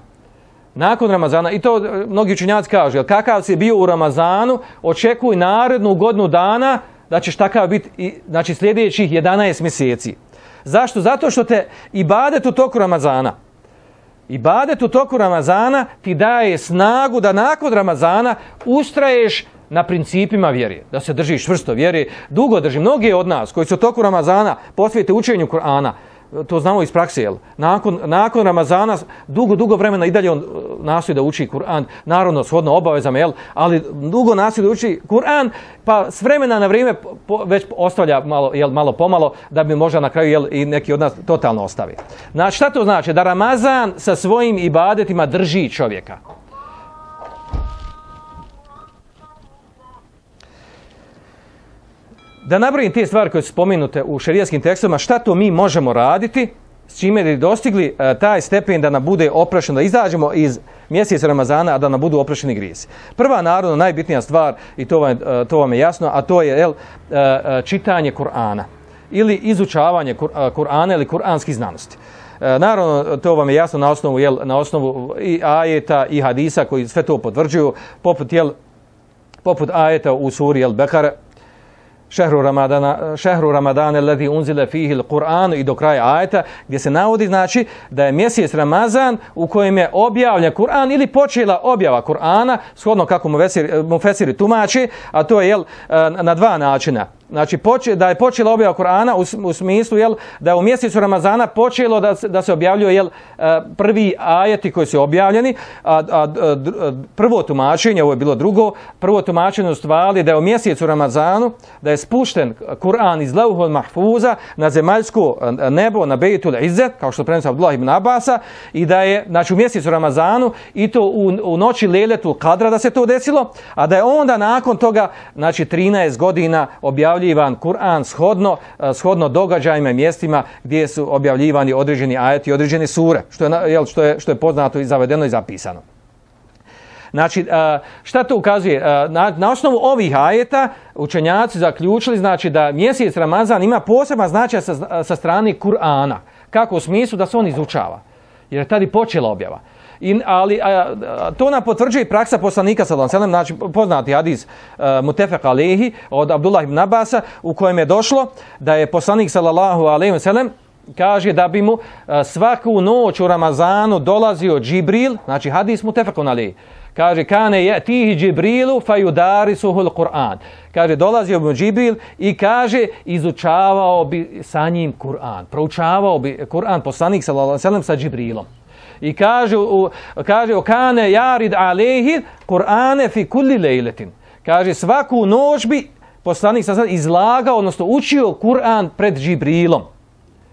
Nakon Ramazana, i to mnogi učenjaci kažu, jel, kakav si bio u Ramazanu, očekuj narednu godinu dana da ćeš takav biti, znači sljedećih jedanaest mjeseci. Zašto? Zato što te ibadet u toku Ramazana, ibadet u toku Ramazana ti daje snagu da nakon Ramazana ustraješ na principima vjere, da se držiš čvrsto vjere. Dugo drži. Mnogi od nas koji su u toku Ramazana posvijete učenju Kur'ana, to znamo iz prakse, jel? Nakon, nakon Ramazana dugo, dugo vremena i dalje on nastoji da uči Kur'an, naravno shodno obavezama, jel? Ali dugo nastoji da uči Kur'an, pa s vremena na vrijeme po, već ostavlja malo, jel, malo pomalo, da bi možda na kraju, jel, i neki od nas totalno ostavi. Znači, šta to znači? Da Ramazan sa svojim ibadetima drži čovjeka. Da nabrojim te stvari koje su spomenute u šerijskim tekstovima, šta to mi možemo raditi, s čime bi dostigli uh, taj stepen da nam bude oprašeno, da izađemo iz mjeseca Ramazana, a da nam budu oprašeni grijesi. Prva, naravno, najbitnija stvar, i to vam, uh, to vam je jasno, a to je jel, uh, čitanje Kur'ana ili izučavanje Kur, uh, Kur'ana ili kur'anskih znanosti. Uh, naravno, to vam je jasno na osnovu, jel, na osnovu i ajeta i hadisa koji sve to potvrđuju, poput, jel, poput ajeta u suri El Bekare, Šehru Ramadana, šehru Ramadana alladhi unzila fihi al-Qur'an, i do kraja ajeta gdje se navodi, znači, da je mjesec Ramazan u kojem je objavljen Kur'an ili počela objava Kur'ana, shodno kako mufesiri tumači, a to je, jel, na dva načina. Znači, poče, da je počela objava Kur'ana u, u smislu, jel, da je u mjesecu Ramazana počelo da, da se objavljuje, jel, prvi ajeti koji su objavljeni, a, a, a prvo tumačenje, ovo je bilo drugo, prvo tumačenje u stvari da je u mjesecu Ramazanu, da je spušten Kur'an iz Lauhul Mahfuza na zemaljsko nebo, na Bejtul Izzet, kao što prenosi Abdullah ibn Abasa, i da je, znači, u mjesecu Ramazanu i to u, u noći Lejletul Kadra da se to desilo, a da je onda nakon toga, znači, trinaest godina objavljivan Kur'an shodno, shodno događajima i mjestima gdje su objavljivani određeni ajeti i određene sure, što je, jel, što je, što je poznato i zavedeno i zapisano. Znači, šta to ukazuje? Na, na osnovu ovih ajeta učenjaci zaključili, znači, da mjesec Ramazan ima poseban značaj sa, sa strane Kur'ana. Kako u smislu da se on izučava? Jer je tada počela objava. I, ali a, a, to nam potvrđuje i praksa poslanika sallallahu alejhi ve sellem, znači poznati hadis uh, mutefek alejhi od Abdullah ibn Abasa, u kojem je došlo da je poslanik sallallahu alejhi ve sellem kaže da bi mu uh, svaku noć u Ramazanu dolazio Džibril, znači hadis mutefek alejhi. Kaže, kane yatihi Džibrilu fayudarisuhu al-Qur'an. Kaže, dolazio bi mu Džibril i kaže, izučavao bi sa njim Kur'an. Proučavao bi Kur'an poslanik sallallahu alejhi ve sellem sa Džibrilom. I kaže, u, kaže, kane jarid alehi Kur'ane fi kulli lejletin. Kaže, svaku noć bi poslanik sallallahu alejhi ve sellem izlagao, odnosno učio Kur'an pred Džibrilom.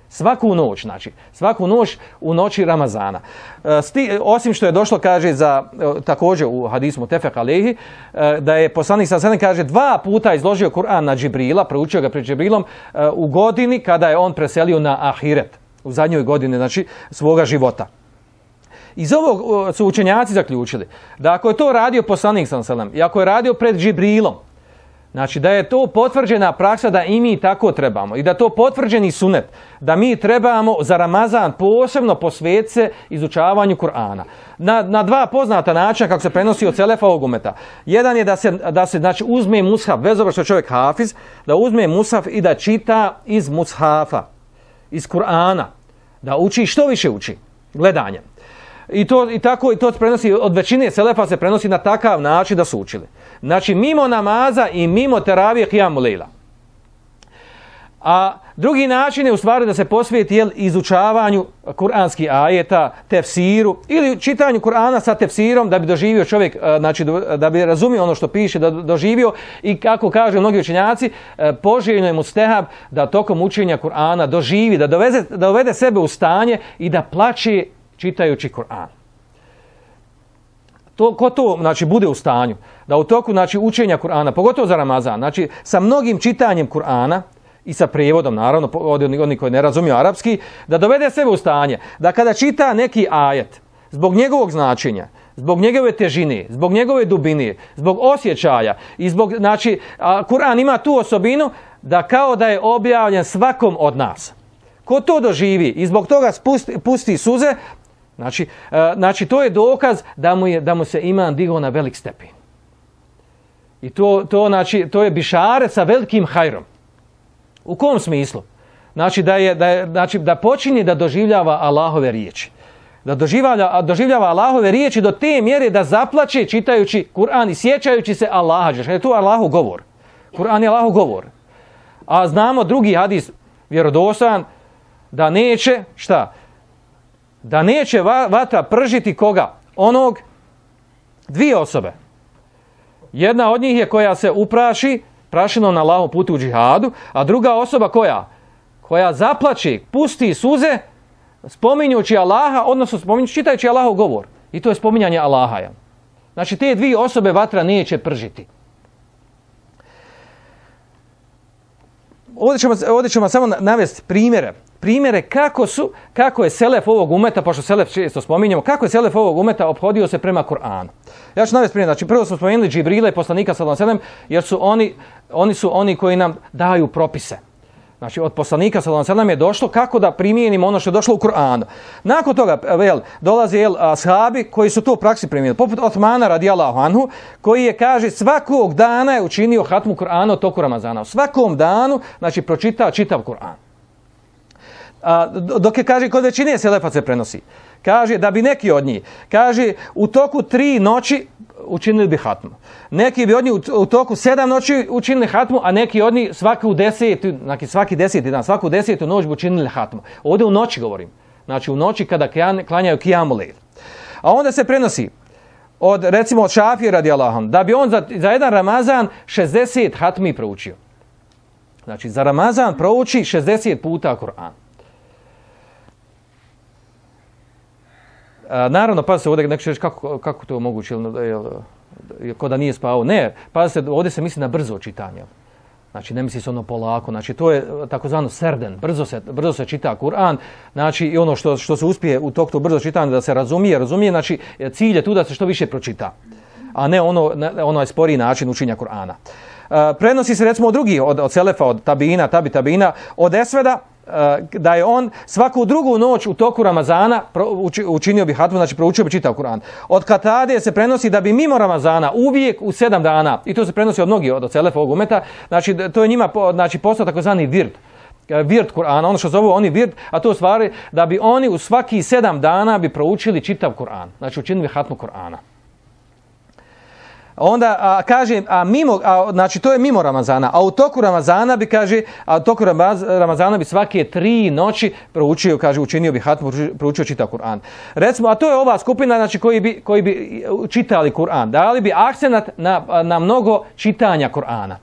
Svaku noć, znači, svaku noć u noći Ramazana. E, sti, osim što je došlo, kaže, za, e, također u hadisu mutefek alejhi, e, da je poslanik sallallahu alejhi ve sellem, kaže, dva puta izložio Kur'an na Džibrila, proučio ga pred Džibrilom, e, u godini kada je on preselio na ahiret, u zadnjoj godini, znači, svoga života. Iz ovog su učenjaci zaključili da ako je to radio poslanik sallallahu alejhi ve sellem i ako je radio pred Džibrilom, znači da je to potvrđena praksa da i mi tako trebamo i da to potvrđeni sunet da mi trebamo za Ramazan posebno posvetiti se izučavanju Kur'ana. Na, na dva poznata načina kako se prenosi od selefa ovog umeta. Jedan je da se, da se znači, uzme mushaf, bez obzira što je čovjek hafiz, da uzme mushaf i da čita iz mushafa, iz Kur'ana, da uči što više uči, gledanjem. I to i tako i to se prenosi od većine selefa, se prenosi na takav način da su učili. Znači mimo namaza i mimo teravije kijamu lejla. A drugi način je u stvari da se posvijeti jel, izučavanju kuranskih ajeta, tefsiru ili čitanju Kur'ana sa tefsirom da bi doživio čovjek, znači da bi razumio ono što piše, da doživio i kako kaže mnogi učenjaci, poželjno je mustehab da tokom učenja Kur'ana doživi, da dovede, da dovede sebe u stanje i da plače čitajući Kur'an. To, ko to znači, bude u stanju, da u toku znači, učenja Kur'ana, pogotovo za Ramazan, znači sa mnogim čitanjem Kur'ana i sa prijevodom, naravno, od onih koji ne razumiju arapski, da dovede sebe u stanje, da kada čita neki ajet, zbog njegovog značenja, zbog njegove težine, zbog njegove dubine, zbog osjećaja i zbog, znači, Kur'an ima tu osobinu da kao da je objavljen svakom od nas. Ko to doživi i zbog toga spusti, pusti suze, znači, znači to je dokaz da mu, je, da mu se iman digao na velik stepen. I to, to, znači, to je bišare sa velikim hajrom. U kom smislu? Znači da, je, da, je, znači da počinje da doživljava Allahove riječi. Da doživljava, doživljava Allahove riječi do te mjere da zaplače čitajući Kur'an i sjećajući se Allaha. Je to Allahov govor. Kur'an je Allahov govor. A znamo drugi hadis vjerodostojan da neće, šta? Da neće vatra pržiti koga? Onog, dvije osobe. Jedna od njih je koja se upraši prašinom na Allahovom putu u džihadu, a druga osoba koja? Koja zaplače, pusti suze spominjući Allaha, odnosno spominjući, čitajući Allahov govor. I to je spominjanje Allaha. Znači te dvije osobe vatra neće pržiti. Ovdje ćemo, ovdje ćemo samo navesti primjere. Primjere kako su, kako je selef ovog umeta, pošto selef često spominjamo, kako je selef ovog umeta ophodio se prema Kur'anu. Ja ću navesti primjer. Znači prvo smo spomenuli Džibrile i poslanika sallallahu alejhi ve sellem, jer su oni, oni su oni koji nam daju propise. Znači od poslanika sallallahu alejhi ve sellem je došlo kako da primijenimo ono što je došlo u Kur'anu. Nakon toga vel, dolazi el ashabi koji su to u praksi primijenili. Poput Osmana radijallahu anhu, koji je, kaže, svakog dana je učinio hatmu Kur'ana u toku Ramazana. U svakom danu, znači, pročitao čitav Kur'an. A, dok je, kaže, kod većine selefa se prenosi. Kaže da bi neki od njih, kaže, u toku tri noći učinili bi hatmu. Neki bi od njih u, u toku sedam noći učinili hatmu, a neki od njih svaku desetu, znači svaki deseti dan, svaku desetu noć bi učinili hatmu. Ovdje u noći govorim. Znači u noći kada klanjaju kijamu lejl. A onda se prenosi od, recimo, od Šafije radijallahu anhu, da bi on za, za jedan Ramazan šezdeset hatmi proučio. Znači za Ramazan prouči šezdeset puta Kur'an. A, naravno, pa se ovdje neko će reći kako, kako to moguće, ko da nije spavao. Ne, pa se, ovdje se misli na brzo čitanje. Znači ne misli se ono polako, znači to je takozvano serden, brzo se, brzo se čita Kur'an, znači i ono što, što se uspije u toku brzo čitanja da se razumije, razumije, znači cilj je tu da se što više pročita, a ne ono, ono sporiji način učenja Kur'ana. Uh, prenosi se recimo od drugih, od, od Selefa, od Tabina, Tabi Tabina, od Esveda, da je on svaku drugu noć u toku Ramazana učinio bi hatmu, znači proučio bi čitav Kur'an. Od Katade se prenosi da bi mimo Ramazana uvijek u sedam dana, i to se prenosi od mnogih od Selefa ovog umeta, znači to je njima znači, postao takozvani vird. Vird Kur'ana, ono što zovu oni vird, a to u stvari da bi oni u svaki sedam dana bi proučili čitav Kur'an, znači učinili hatmu Kur'ana. Onda a, kaže, a mimo, a, znači to je mimo Ramazana, a u toku Ramazana bi, kaže, a u toku Ramazana bi svake tri noći proučio, kaže, učinio bi hatmu, proučio čitav Kur'an. Recimo, a to je ova skupina, znači, koji bi, koji bi čitali Kur'an, dali bi akcenat na, na mnogo čitanja Kur'ana.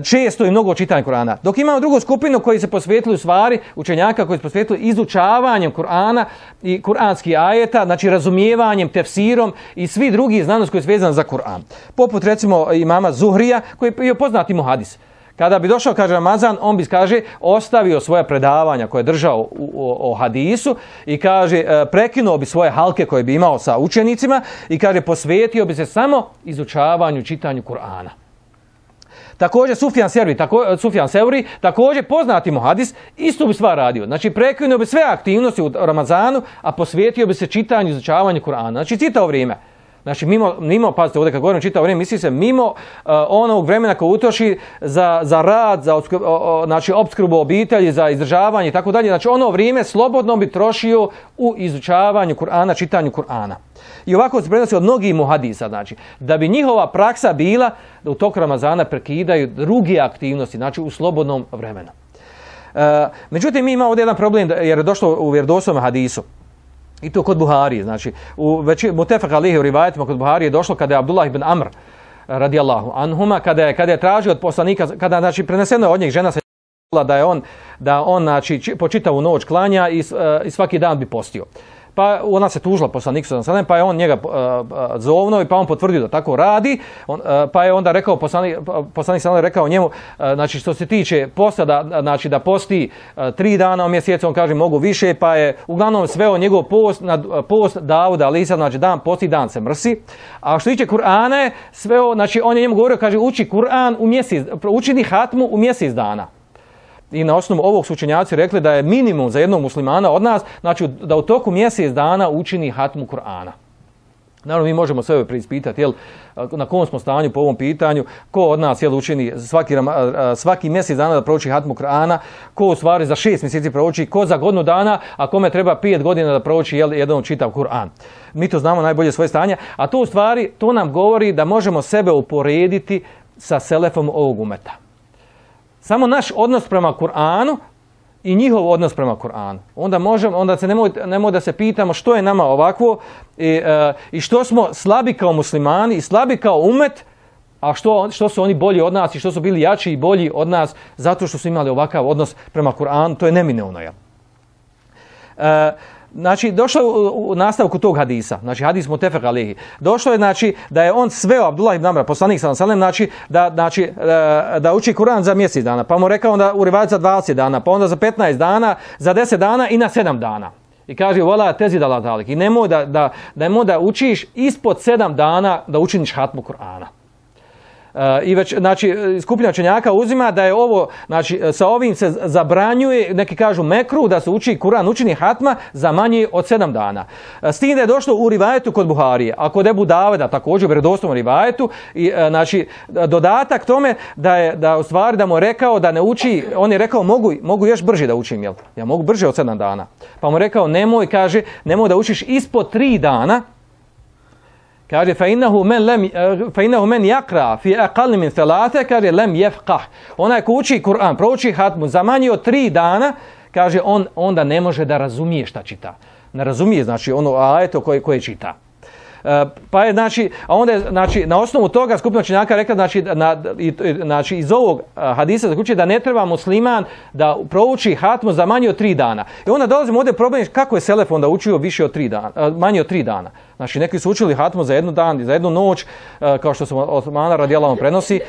Često i mnogo čitanja Kur'ana. Dok imamo drugu skupinu koji se posvetili u stvari, učenjaka koji se posvetili izučavanjem Kur'ana i kuranskih ajeta, znači razumijevanjem, tefsirom i svi drugi znanosti koji su vezani za Kur'an. Poput recimo imama Zuhrija koji je poznati mu hadis. Kada bi došao, kaže, Ramazan, on bi, kaže, ostavio svoja predavanja koje je držao u, o, o hadisu i, kaže, prekinuo bi svoje halke koje bi imao sa učenicima i, kaže, posvetio bi se samo izučavanju, čitanju Kur'ana. Također Sufjan Sevri, tako, Sufjan Sevri, također poznati mu hadis, isto bi stvar radio. Znači prekinuo bi sve aktivnosti u Ramazanu, a posvetio bi se čitanju i izučavanju Kur'ana. Znači čitao vrijeme. Znači mimo, mimo pazite, ovdje kad govorim čitao vrijeme, misli se mimo uh, onog vremena koji utroši za, za rad, za opskrbu, uh, znači opskrbu obitelji, za izdržavanje i tako dalje. Znači ono vrijeme slobodno bi trošio u izučavanju Kur'ana, čitanju Kur'ana. I ovako se prenosi od mnogih muhadisa, znači, da bi njihova praksa bila da u toku Ramazana prekidaju druge aktivnosti, znači u slobodnom vremenu. E, međutim, mi imamo ovdje jedan problem, jer je došlo u vjerodostojnom hadisu. I to kod Buharije, znači, u veći, mutefak alihi u rivajetima kod Buharije je došlo kada je Abdullah ibn Amr, radijallahu anhuma, kada je, kada je tražio od poslanika, kada, znači, preneseno od njih žena se da je on, da on, znači, po čitavu noć klanja i, i svaki dan bi postio. pa ona se tužila poslaniku sallallahu alejhi ve sellem, pa je on njega uh, zovno i pa on potvrdio da tako radi, on, uh, pa je onda rekao poslanik poslanik sallallahu rekao njemu, uh, znači što se tiče posta da znači da posti uh, tri dana u mjesecu, on kaže mogu više, pa je uglavnom sveo njegov post na uh, post Davuda alejhi, znači dan posti, dan se mrsi. A što tiče Kur'ana je sveo, znači on je njemu govorio, kaže uči Kur'an u mjesec, učini hatmu u mjesec dana. I na osnovu ovog su učenjaci rekli da je minimum za jednog muslimana od nas, znači da u toku mjesec dana učini hatmu Kur'ana. Naravno, mi možemo sebe preispitati, jel, na kom smo stanju po ovom pitanju, ko od nas jel, učini svaki, svaki mjesec dana da prouči hatmu Kur'ana, ko u stvari za šest mjeseci prouči, ko za godinu dana, a kome treba pet godina da prouči jel, jedan čitav Kur'an. Mi to znamo najbolje svoje stanje, a to u stvari, to nam govori da možemo sebe uporediti sa selefom ovog umeta. Samo naš odnos prema Kur'anu i njihov odnos prema Kur'anu. Onda možemo, onda se nemoj, nemoj da se pitamo što je nama ovakvo i, e, i što smo slabi kao muslimani i slabi kao umet, a što, što su oni bolji od nas i što su bili jači i bolji od nas zato što su imali ovakav odnos prema Kur'anu, to je neminovno. Jel? E, Znači, došlo je u, u nastavku tog hadisa, znači hadis mutefek alejhi. Došlo je, znači, da je on sveo Abdullah ibn Amra, poslanik sallallahu alejhi ve sellem, znači, da, znači, da, da uči Kur'an za mjesec dana, pa mu rekao onda u rivajatu za dvadeset dana, pa onda za petnaest dana, za deset dana i na sedam dana. I kaže, vola tezid ala zalik. I nemoj da, da, nemoj da učiš ispod sedam dana da učiniš hatmu Kur'ana. Uh, I već, znači, skupina učenjaka uzima da je ovo, znači, sa ovim se zabranjuje, neki kažu mekru, da se uči Kur'an, učini hatma za manje od sedam dana. S tim da je došlo u rivajetu kod Buharije, a kod Ebu Daveda također u vjerodostojnom rivajetu, i, uh, znači, dodatak tome da je, da u stvari da mu je rekao da ne uči, on je rekao mogu, mogu još brže da učim, jel? Ja mogu brže od sedam dana. Pa mu je rekao nemoj, kaže, nemoj da učiš ispod tri dana. Kaže, فَإِنَّهُ مَنْ لَمْ فَإِنَّهُ مَنْ يَقْرَى فِي أَقَلِّ مِنْ ثَلَاثَ kaže lem yefqah. Onaj ko uči Kur'an, prouči hatmu za manje od tri dana, kaže on onda ne može da razumije šta čita. Ne razumije, znači ono ajeto koje koje čita. E, pa je znači, a onda je znači na osnovu toga skupina učenjaka rekla znači na i, znači iz ovog hadisa zaključuje da ne treba musliman da prouči hatmu za manje od tri dana. I onda dolazimo ovdje problem kako je selef onda učio više od tri dana, manje od tri dana. Znači neki su učili hatmu za jednu dan, za jednu noć, kao što se od Osmana radijallahu prenosi,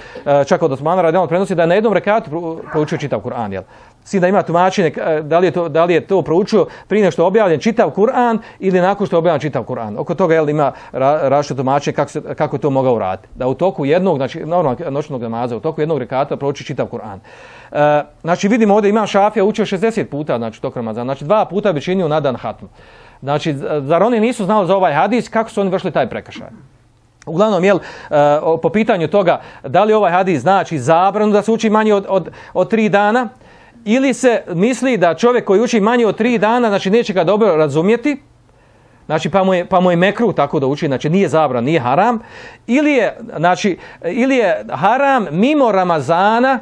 čak od Osmana radijallahu prenosi da je na jednom rekatu proučio čitav Kur'an, jel? Sin da ima tumačenje da li je to da li je to proučio prije nego što je objavljen čitav Kur'an ili nakon što je objavljen čitav Kur'an. Oko toga jel ima različito tumačenje kako se kako je to mogao uraditi. Da u toku jednog, znači normalnog noćnog namaza, u toku jednog rekata prouči čitav Kur'an. E, znači vidimo ovdje Imam Šafija učio šezdeset puta znači tok Ramazana, znači dva puta bi činio na dan hatmu. Znači, zar oni nisu znali za ovaj hadis, kako su oni vršili taj prekršaj? Uglavnom, jel, po pitanju toga, da li ovaj hadis znači zabranu da se uči manje od, od, od tri dana, ili se misli da čovjek koji uči manje od tri dana, znači neće ga dobro razumjeti, znači pa mu je, pa mu je mekru tako da uči, znači nije zabran, nije haram, ili je, znači, ili je haram mimo Ramazana,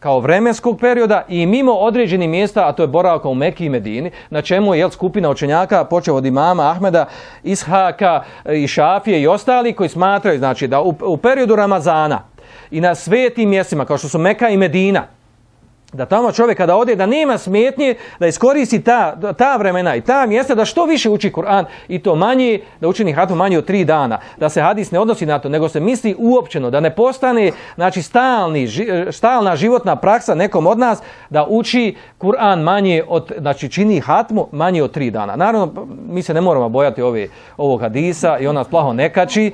kao vremenskog perioda i mimo određenih mjesta, a to je boravka u Mekki i Medini, na čemu je jel, skupina učenjaka, počeo od imama Ahmeda, Ishaka i Šafije i ostali koji smatraju znači, da u, u periodu Ramazana i na svetim mjestima, kao što su Meka i Medina, da tamo čovjek kada ode, da nema smetnje, da iskoristi ta, ta vremena i ta mjesta, da što više uči Kur'an i to manje, da učini hatmu manje od tri dana, da se hadis ne odnosi na to, nego se misli uopćeno, da ne postane znači, stalni, stalna životna praksa nekom od nas, da uči Kur'an manje od, znači čini hatmu manje od tri dana. Naravno, mi se ne moramo bojati ove, ovog hadisa i on nas plaho ne kači,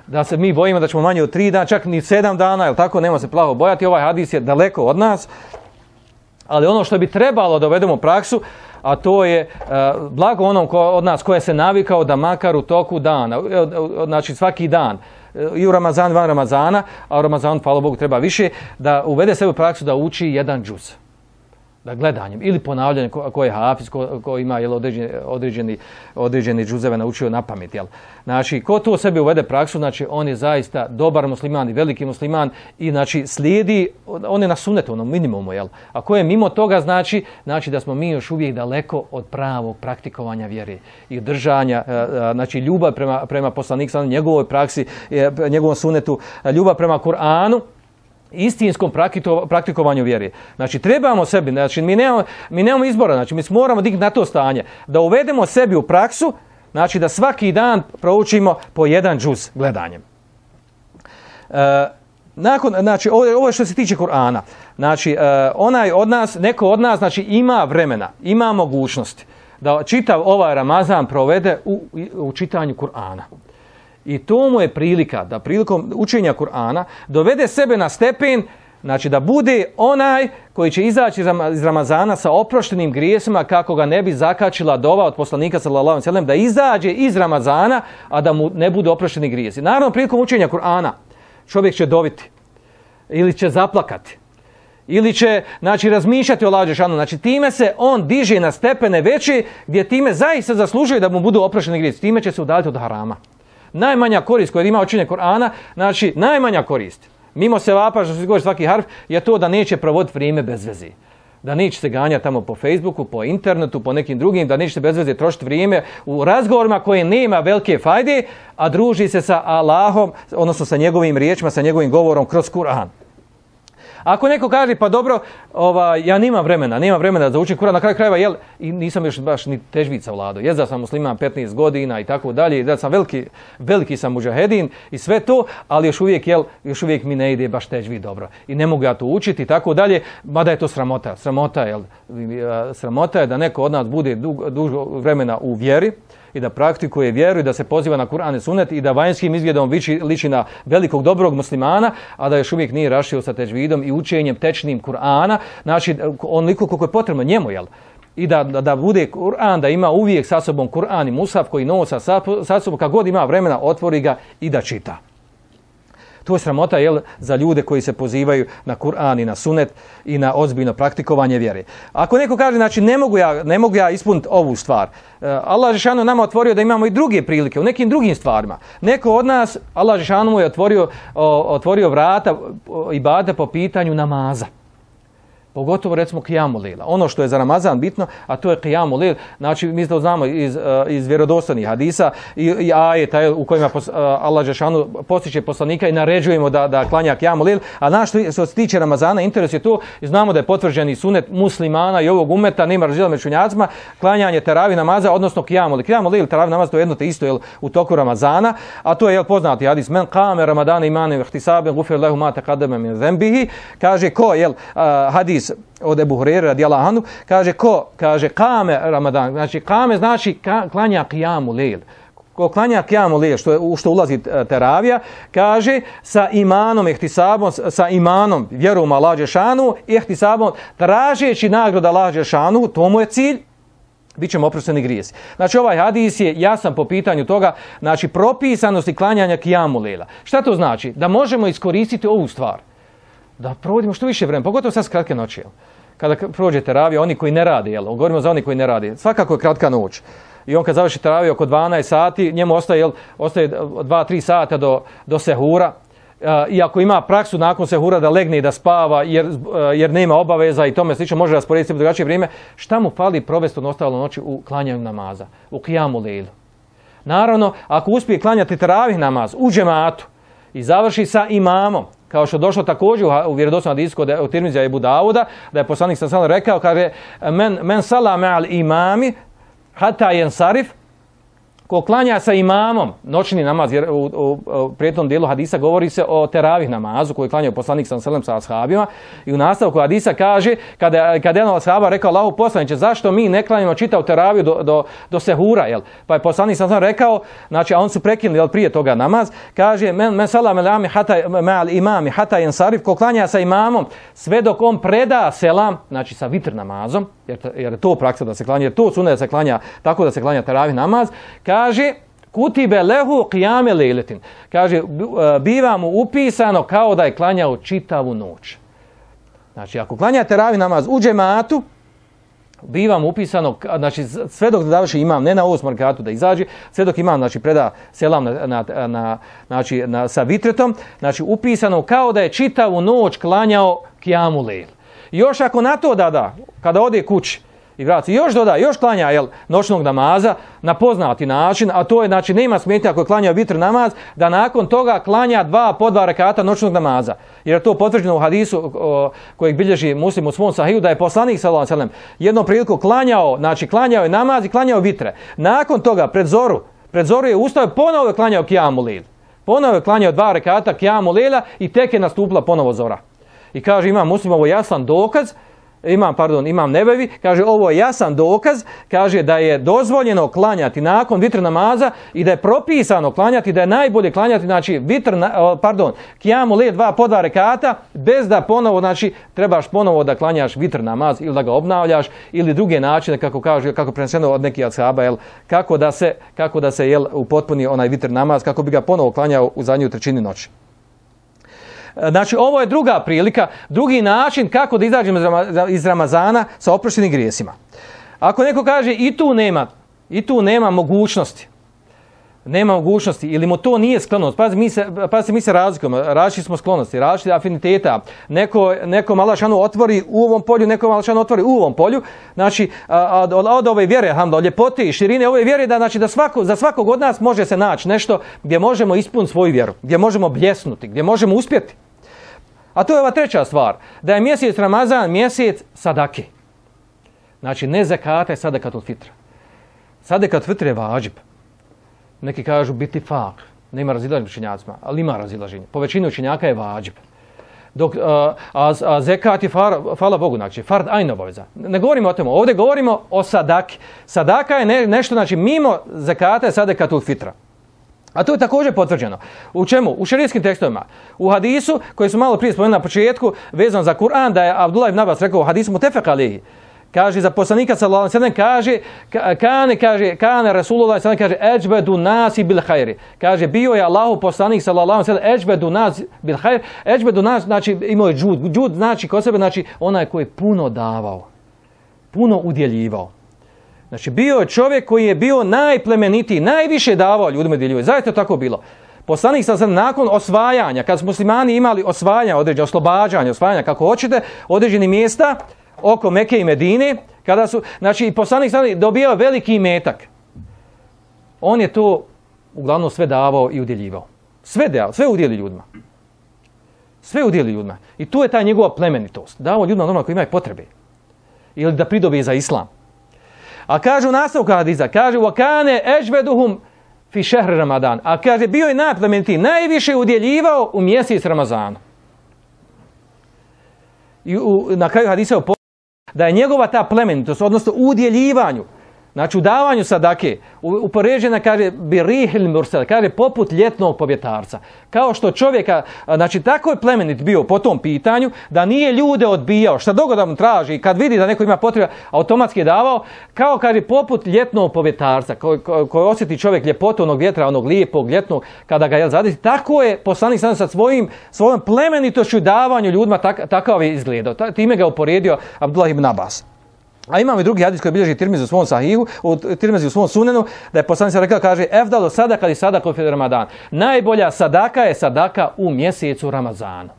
da se mi bojimo da ćemo manje od tri dana, čak ni sedam dana, jel tako, nema se plaho bojati, ovaj hadis je daleko od nas, ali ono što bi trebalo da uvedemo u praksu, a to je uh, blago onom ko, od nas koje se navikao da makar u toku dana, znači svaki dan, i u Ramazan, van Ramazana, a u Ramazanu, hvala Bogu, treba više, da uvede sebe u praksu da uči jedan džuz. Da gledanjem ili ponavljanjem ko, ko je hafiz, ko, ko ima jel, određeni, određeni, određeni džuzeve naučio na pamet. Jel. Znači, ko to sebi uvede praksu, znači on je zaista dobar musliman i veliki musliman i znači slijedi, on je na sunnetu, onom minimumu. Jel. A ko je mimo toga, znači, znači da smo mi još uvijek daleko od pravog praktikovanja vjere i držanja, znači ljubav prema, prema poslaniku, njegovoj praksi, njegovom sunnetu, ljubav prema Kur'anu. istinskom praktikovanju vjere. Znači, trebamo sebi, znači, mi nemamo, mi nemamo izbora, znači, mi moramo dignuti na to stanje, da uvedemo sebi u praksu, znači, da svaki dan proučimo po jedan džuz gledanjem. E, nakon, znači, ovo je što se tiče Kur'ana. Znači, e, onaj od nas, neko od nas, znači, ima vremena, ima mogućnosti da čitav ovaj Ramazan provede u, u čitanju Kur'ana. I to mu je prilika da prilikom učenja Kur'ana dovede sebe na stepen, znači da bude onaj koji će izaći iz Ramazana sa oproštenim grijesima kako ga ne bi zakačila dova od poslanika sallallahu alejhi ve sellem, da izađe iz Ramazana, a da mu ne bude oprošteni grijesi. Naravno, prilikom učenja Kur'ana čovjek će doviti ili će zaplakati ili će, znači, razmišljati o Allahu dželešanu. Znači, time se on diže na stepene veće gdje time zaista zaslužuje da mu budu oprošteni grijesi. Time će se udaljiti od harama. Najmanja korist koja ima učenje Kur'ana, znači najmanja korist, mimo sevapa što se govori svaki harf, je to da neće provoditi vrijeme bez veze. Da neće se ganjati tamo po Facebooku, po internetu, po nekim drugim, da neće se bez veze trošiti vrijeme u razgovorima koje nema velike fajde, a druži se sa Allahom, odnosno sa njegovim riječima, sa njegovim govorom kroz Kur'an. Ako neko kaže, pa dobro, ova, ja nimam vremena, nemam vremena da učim Kur'an, na kraju krajeva, jel, i nisam još baš ni težvica vlado. Jest da sam musliman petnaest godina i tako dalje, da sam veliki, veliki sam muđahedin i sve to, ali još uvijek, jel, još uvijek mi ne ide baš težvid dobro. I ne mogu ja to učiti i tako dalje, mada je to sramota. Sramota, jel, sramota je da neko od nas bude dugo, dugo vremena u vjeri i da praktikuje vjeru i da se poziva na Kur'an i Sunnet i da vanjskim izgledom liči, liči na velikog dobrog muslimana, a da još uvijek nije rašio sa težvidom i učenjem tečnim Kur'ana, znači onoliko koliko je potrebno njemu, jel? I da, da, da bude Kur'an, da ima uvijek sa sobom Kur'an i Musaf koji nosa sa, sa sobom, kad god ima vremena, otvori ga i da čita. To je sramota, jel, za ljude koji se pozivaju na Kur'an i na Sunnet i na ozbiljno praktikovanje vjere. Ako neko kaže, znači, ne mogu ja, ne mogu ja ispuniti ovu stvar, Allah dželešanu nama otvorio da imamo i druge prilike u nekim drugim stvarima. Neko od nas, Allah dželešanu mu je otvorio, otvorio vrata ibadeta po pitanju namaza. Pogotovo, recimo, Qiyamu Lejla. Ono što je za Ramazan bitno, a to je Qiyamu Lejla. Znači, mi to znamo iz, iz vjerodostojnih hadisa i, i ajeta u kojima pos, Allah dželešanu postiče poslanika i naređujemo da, da klanja Qiyamu Lejla. A naš što se tiče Ramazana, interes je to, i znamo da je potvrđeni sunet muslimana i ovog umeta, nema razdjela među učenjacima, klanjanje teravih namaza, odnosno Qiyamu Lejla. Qiyamu Lejla, teravih namaz, to je jedno te isto, jel, u toku Ramazana, a to je, jel, poznati hadis, men qame Ramadana imanem ihtisaben gufir lehu ma taqaddama min dhanbihi, kaže ko, jel, hadis od Ebu Hurajre radijallahu anhu, kaže ko, kaže kame Ramadan, znači kame znači ka, klanja Qiyamu Lejl. Ko klanja Qiyamu Lejl, što, u što ulazi teravija, kaže sa imanom, ihtisabom, sa imanom, vjerom Allah dželešanu, ihtisabom, tražeći nagradu Allah dželešanu, to mu je cilj, bit ćemo oprošteni grijesi. Znači, ovaj hadis je jasan po pitanju toga, znači propisanosti klanjanja Qiyamu Lejla. Šta to znači? Da možemo iskoristiti ovu stvar. Da provodimo što više vremena, pogotovo sad s kratke noći. Jel? Kada prođe teravija, oni koji ne rade, jel? Govorimo za oni koji ne rade, svakako je kratka noć. I on kad završi teraviju oko dvanaest sati, njemu ostaje, jel, ostaje dva tri sata do, do sehura. Uh, I ako ima praksu nakon sehura da legne i da spava jer, uh, jer nema obaveza i tome slično, može rasporediti u drugačije vrijeme, šta mu fali provesti od ostalo noći u klanjanju namaza, u Qiyamu Lejlu? Naravno, ako uspije klanjati teravih namaz u džematu i završi sa imamom, kao što došlo također u vjerodostojnom hadisu kod Tirmizija i Ebu Dauda, da je poslanik sallallahu alejhi ve sellem rekao, kaže men men salla ma'al imami hatta yansarif, ko klanja sa imamom noćni namaz, jer u, u, u prijetnom dijelu hadisa govori se o teravih namazu koji klanjaju poslanik sallallahu alejhi ve sellem sa ashabima, i u nastavku hadisa kaže, kada kada jedan od ashaba rekao Allahu poslanice, zašto mi ne klanjamo čitav teraviju do, do, do sehura, jel? Pa je poslanik sallallahu alejhi ve sellem rekao, znači, a on su prekinuli, jel, prije toga namaz, kaže men men salla ma'al hatta ma'al imami hatta yansarif, ko klanja sa imamom sve dok on preda selam, znači sa vitr namazom, jer, jer je to praksa da se klanja, jer to sunnet da se klanja tako da se klanja teravih namaz, kaže kutibe lehu qiyame lejletin, kaže biva mu upisano kao da je klanjao čitavu noć. Znači, ako klanja teravih namaz u džematu, biva mu upisano, znači sve dok da završi imam, ne na osmom rekatu da izađe, sve dok imam, znači, preda selam na, na, na, znači, na, sa vitretom, znači upisano kao da je čitavu noć klanjao Qiyamu Lejl. Još ako na to da da, kada ode kući I vrati, još doda, još klanja jel, noćnog namaza na poznati način, a to je, znači, nema smetnja ako je klanjao vitr namaz, da nakon toga klanja dva po dva rekata noćnog namaza. Jer je to potvrđeno u hadisu o, kojeg bilježi Muslim u svom sahiju, da je poslanik sallallahu alejhi ve sellem jednom priliku klanjao, znači klanjao je namaz i klanjao vitre. Nakon toga, pred zoru, pred zoru je ustao, ponovo je klanjao kijamu lejl. Ponovo je klanjao dva rekata kijamu lejla i tek je nastupila ponovo zora. I kaže, imam Muslim ovo jasan dokaz, imam, pardon, imam Nebevi, kaže, ovo je jasan dokaz, kaže da je dozvoljeno klanjati nakon vitr namaza i da je propisano klanjati, da je najbolje klanjati, znači, vitr, pardon, kijamu lejl dva po dva rekata, bez da ponovo, znači, trebaš ponovo da klanjaš vitr namaz ili da ga obnavljaš ili druge načine, kako kaže, kako preneseno od nekih ashaba, jel, kako da se, kako da se, jel, upotpuni onaj vitr namaz, kako bi ga ponovo klanjao u zadnjoj trećini noći. Znači, ovo je druga prilika, drugi način kako da izađemo iz Ramazana sa oproštenim grijesima. Ako neko kaže i tu nema, i tu nema mogućnosti, nema mogućnosti ili mu to nije sklonost, pazi, mi se, pazi, mi se razlikujemo, različiti smo sklonosti, različiti afiniteta, neko, neko malašanu otvori u ovom polju, neko malašanu otvori u ovom polju, znači, od, od ove vjere, hamda, od ljepote i širine ove vjere, da, znači, da svako, za svakog od nas može se naći nešto gdje možemo ispuniti svoju vjeru, gdje možemo bljesnuti, gdje možemo uspjeti. A to je ova treća stvar, da je mjesec Ramazan mjesec sadake. Znači, ne zakate sadakatul fitra. Sadakatul fitra je vađib. Neki kažu biti fak, nema razilaženja učenjacima, ali ima razilaženja. Po većini učenjaka je vađib. Dok, a, a, a zekat je, far, hvala Bogu, znači, fard ajn obaveza. Ne govorimo o tome, ovdje govorimo o sadaki. Sadaka je ne, nešto, znači, mimo zakata je sadakatul fitra. A to je također potvrđeno. U čemu? U šerijskim tekstovima. U hadisu, koji su malo prije spomenuli na početku, vezano za Kur'an, da je Abdullah ibn Abbas rekao u hadisu mutefek alejhi. Kaže, za poslanika sallallahu alejhi ve sellem kaže, kane, kaže, kane Rasulullah sallallahu alejhi ve sellem kaže, ejbedu nasi bil hajri. Kaže, bio je Allahu poslanik sallallahu alejhi ve sellem, ejbedu nasi bil hajri. Ejbedu nasi, znači, imao je džud. Džud znači kod sebe, znači, onaj koji je puno davao. Puno udjeljivao. Znači, bio je čovjek koji je bio najplemenitiji, najviše davao ljudima djeljivao. Zaista je tako bilo. Poslanik sam nakon osvajanja, kad su muslimani imali osvajanja, određene oslobađanja, osvajanja, kako hoćete, određeni mjesta oko Mekke i Medine, kada su, znači, poslanik sam dobijao veliki imetak. On je to uglavnom sve davao i udjeljivao. Sve davao, sve udjeli ljudima. Sve udjeli ljudima. I tu je ta njegova plemenitost. Davao ljudima normalno koji imaju potrebe. Ili da pridobije za islam. A kaže u nastavku hadisa, kaže wakane ejveduhum fi šehr Ramadan. A kaže bio je najplemenitiji, najviše udjeljivao u mjesec Ramazana. I u, na kraju hadisa da je njegova ta plemenitost, odnosno u udjeljivanju, znači u davanju sadake, upoređena, kaže, bi rihil mursel, kaže, poput ljetnog povjetarca. Kao što čovjeka, znači tako je plemenit bio po tom pitanju, da nije ljude odbijao, šta dogo da mu traži, kad vidi da neko ima potreba, automatski je davao, kao, kaže, poput ljetnog povjetarca, koji ko, ko osjeti čovjek ljepotu onog vjetra, onog lijepog ljetnog, kada ga je zadesi. Tako je poslanik sam sa svojim, svojom plemenitošću davanju ljudima, tak, takav je izgledao. Ta, time ga uporedio Abdullah ibn Abbas. A imamo i drugi hadis koji bilježi Tirmizi u svom sahihu, u Tirmizi u svom sunenu, da je poslanik rekao, kaže, efdalu sadaka li sadaka fi Ramadan. Najbolja sadaka je sadaka u mjesecu Ramazana.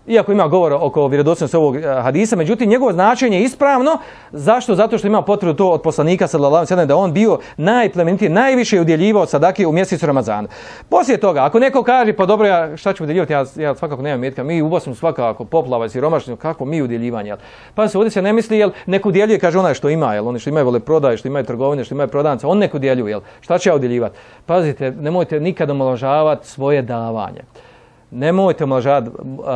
Iako ima govor oko vjerodostojnosti ovog hadisa, međutim njegovo značenje je ispravno. Zašto? Zato što ima potvrdu to od poslanika sallallahu alejhi ve sellem da on bio najplemenitiji, najviše udjeljivao sadake u mjesecu Ramazana. Poslije toga, ako neko kaže, pa dobro, ja šta ću udjeljivati, ja, ja svakako nemam metka, mi u Bosni svakako poplava i siromaštvo, kako mi udjeljivanje. Pa se ovdje se ne misli, jel, neko udjeljuje, kaže onaj što ima, jel, oni što imaju vole prodaje, što imaju trgovine, što imaju prodavnice, on neko udjeljuje, jel, šta će ja udjeljivati? Pazite, nemojte nikada omalovažavati svoje davanje. Nemojte omalovažavati,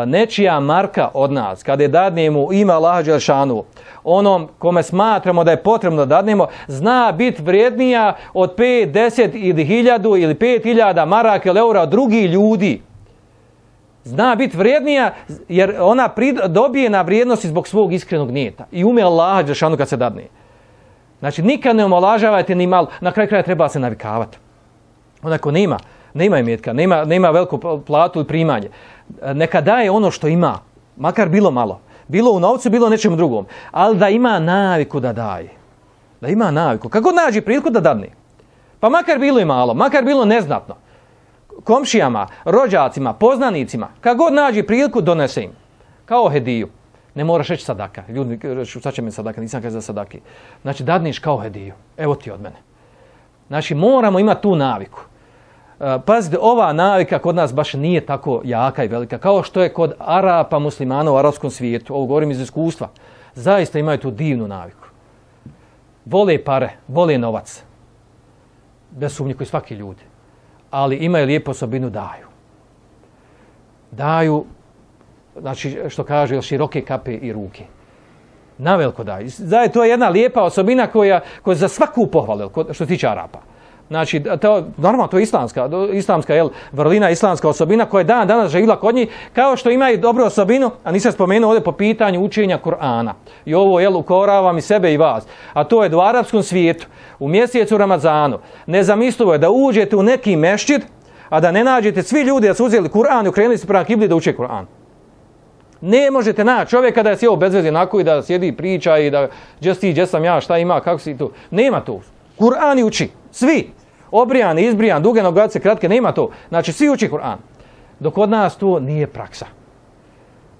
nečija marka od nas, kada je dadnemo ime Allaha dželešanu, onom kome smatramo da je potrebno da dadnemo, zna biti vrijednija od pet, deset ili hiljadu ili pet hiljada maraka ili eura od drugih ljudi. Zna biti vrijednija jer ona prid, dobije na vrijednosti zbog svog iskrenog nijeta i ume Allaha dželešanu kad se dadne. Znači nikad ne omalovažavajte ni malo, na kraju kraja treba se navikavati. Onako nema. Nema imetka, nema, nema veliku platu i primanje. Neka daje ono što ima, makar bilo malo. Bilo u novcu, bilo nečemu drugom. Ali da ima naviku da daje. Da ima naviku. Kako nađe priliku da dadne? Pa makar bilo i malo, makar bilo neznatno. Komšijama, rođacima, poznanicima, kako god nađe priliku donese im. Kao hediju. Ne moraš reći sadaka. Ljudi kažu, sad će mi sadaka, nisam kaže za sadaki. Znači, dadniš kao hediju. Evo ti od mene. Znači, moramo imati tu naviku. Pazite, ova navika kod nas baš nije tako jaka i velika, kao što je kod Arapa, muslimana u arapskom svijetu. Ovo govorim iz iskustva. Zaista imaju tu divnu naviku. Vole pare, vole novac. Bez sumnje koji svaki ljudi. Ali imaju lijepu osobinu, daju. Daju, znači što kaže, široke kape i ruke. Naveliko daju. Zaje, to je jedna lijepa osobina koja, koja za svaku pohvalu, što se tiče Arapa. Znači, to, normalno, to je islamska, islamska jel, vrlina, islamska osobina koja je dan danas živjela kod njih, kao što ima i dobru osobinu, a nisam spomenuo ovdje po pitanju učenja Kur'ana. I ovo, jel, ukoravam i sebe i vas. A to je da u arapskom svijetu, u mjesecu Ramazanu, nezamislivo je da uđete u neki mešćid, a da ne nađete svi ljudi da su uzeli Kur'an i okrenuli se prema kibli da uče Kur'an. Ne možete naći čovjeka da je sjeo bez veze onako i da sjedi i priča i da gdje si, gdje sam ja, šta ima, kako si tu. Nema to. Kur'an i uči. Svi. Obrijan, izbrijan, duge nogavice, kratke, nema to. Znači, svi uči Kur'an. Dok kod nas to nije praksa.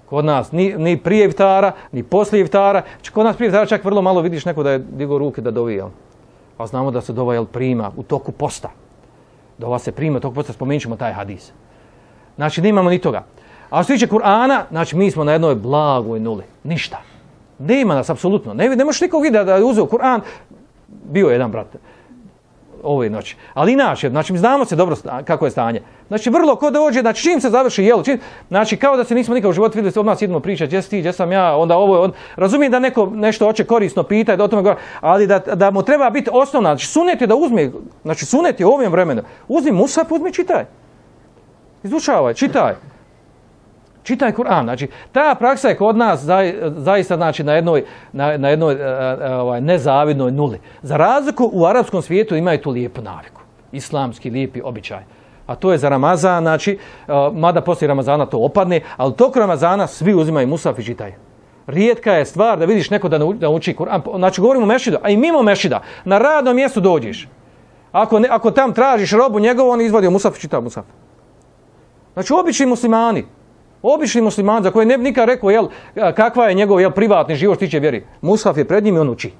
Kod nas ni, ni prije iftara, ni poslije iftara. Kod nas prije iftara čak vrlo malo vidiš neko da je digao ruke da dovi, jel? A znamo da se dova, jel, prima u toku posta. Dova se prima u toku posta, spomenut ćemo taj hadis. Znači, nemamo ni toga. A što se tiče Kur'ana, znači, mi smo na jednoj blagoj nuli. Ništa. Nema nas, apsolutno. Ne, ne možeš nikog vidjeti da je uzeo Kur'an. Bio jedan brat ove noći. Ali inače, znači mi znamo se dobro kako je stanje. Znači vrlo ko dođe, znači čim se završi jelo, čim, znači kao da se nismo nikad u životu vidjeli, odmah idemo pričati, gdje si ti, gdje sam ja, onda ovo, on, razumijem da neko nešto hoće korisno pitati, da o tome govori, ali da, da mu treba biti osnovna, znači sunet je da uzme, znači sunet je u ovom vremenu, uzmi musaf, uzmi čitaj. Izučavaj, čitaj. Čitaj Kur'an. Znači, ta praksa je kod nas zaista znači, na jednoj, na, na jednoj ovaj, nezavidnoj nuli. Za razliku u arapskom svijetu imaju tu lijepu naviku. Islamski lijepi običaj. A to je za Ramazan, znači, mada poslije Ramazana to opadne, ali toko Ramazana svi uzimaju musaf i čitaju. Rijetka je stvar da vidiš neko da, da uči Kur'an. Znači, govorimo o mešida, a i mimo mešida. Na radnom mjestu dođeš. Ako, ne, ako tam tražiš robu njegovu, on izvadio musaf i čitao musaf. Znači, obični muslimani. Obični musliman za koje ne bi nikad rekao jel, kakva je njegov jel, privatni život što tiče vjeri. Mushaf je pred njim i on uči.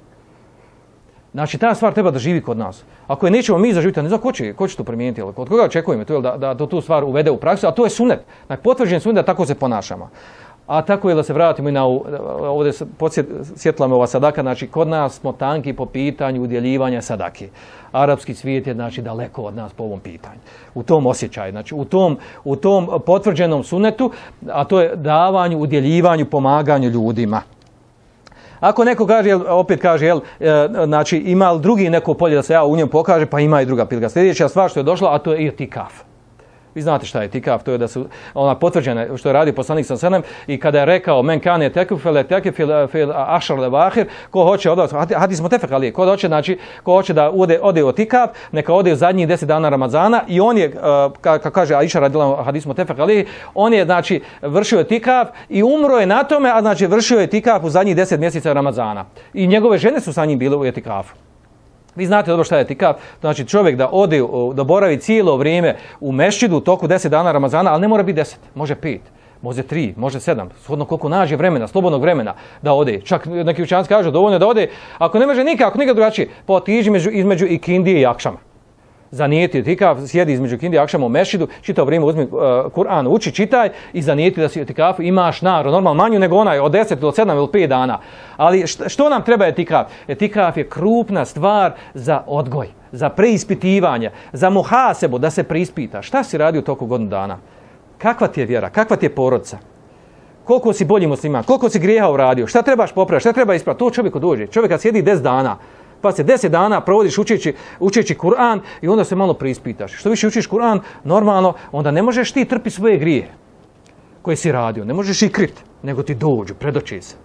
Znači ta stvar treba da živi kod nas. Ako je nećemo mi zaživiti, ne znam ko će, ko će to primijeniti, jel, od koga očekujemo to, jel, da, da, da tu stvar uvede u praksu, a to je sunet. Znači, potvrđen sunet da tako se ponašamo. A tako je da se vratimo i na ovdje podsjetila me ova sadaka, znači kod nas smo tanki po pitanju udjeljivanja sadake. Arapski svijet je znači daleko od nas po ovom pitanju. U tom osjećaju, znači u tom, u tom potvrđenom sunetu, a to je davanju, udjeljivanju, pomaganju ljudima. Ako neko kaže, jel, opet kaže, jel, e, znači ima li drugi neko polje da se ja u njem pokaže, pa ima i druga pilga. Sljedeća stvar što je došla, a to je itikaf. Vi znate šta je itikaf, to je da su ona potvrđena što je radio poslanik sallallahu alejhi ve sellem i kada je rekao men kane tekfele tekfil fil ashar al-akhir, ko hoće od hadis mutafaq alejhi, ko hoće znači ko hoće da ode ode u itikaf, neka ode u zadnjih deset dana Ramazana i on je kako kaže Aisha radijallahu hadis mutafaq alejhi, on je znači vršio itikaf i umro je na tome, a znači vršio je itikaf u zadnjih deset mjeseca Ramazana. I njegove žene su sa njim bile u itikafu. Vi znate dobro šta je itikaf, znači čovjek da ode, da boravi cijelo vrijeme u mešćidu u toku deset dana Ramazana, ali ne mora biti deset, može pet, može tri, može sedam, shodno koliko nađe vremena, slobodnog vremena da ode. Čak neki učenjaci kažu dovoljno da ode, ako ne može nikako, nikad drugačije, pa otiđi između, između ikindije i akšama. Zanijeti itikaf, sjedi između ikindije i akšama u mešćidu, čitao vrijeme, uzmi uh, Kur'an, uči, čitaj i zanijeti da si itikafu, imaš naru, normalno manju nego onaj od deset do sedam ili pet dana. Ali što, što nam treba itikaf? Itikaf je krupna stvar za odgoj, za preispitivanje, za muhasebu, da se preispita. Šta si radio u toku godinu dana? Kakva ti je vjera? Kakva ti je porodica? Koliko si bolji musliman? Koliko si grijeha uradio? Šta trebaš popraviti? Šta treba ispraviti? To čovjeku dođe. Čovjek kad sjedi deset dana, pa se deset dana provodiš učeći, učeći Kur'an i onda se malo preispitaš. Što više učiš Kur'an, normalno, onda ne možeš ti trpi svoje grije koje si radio. Ne možeš ih kriti, nego ti dođu, predoči se.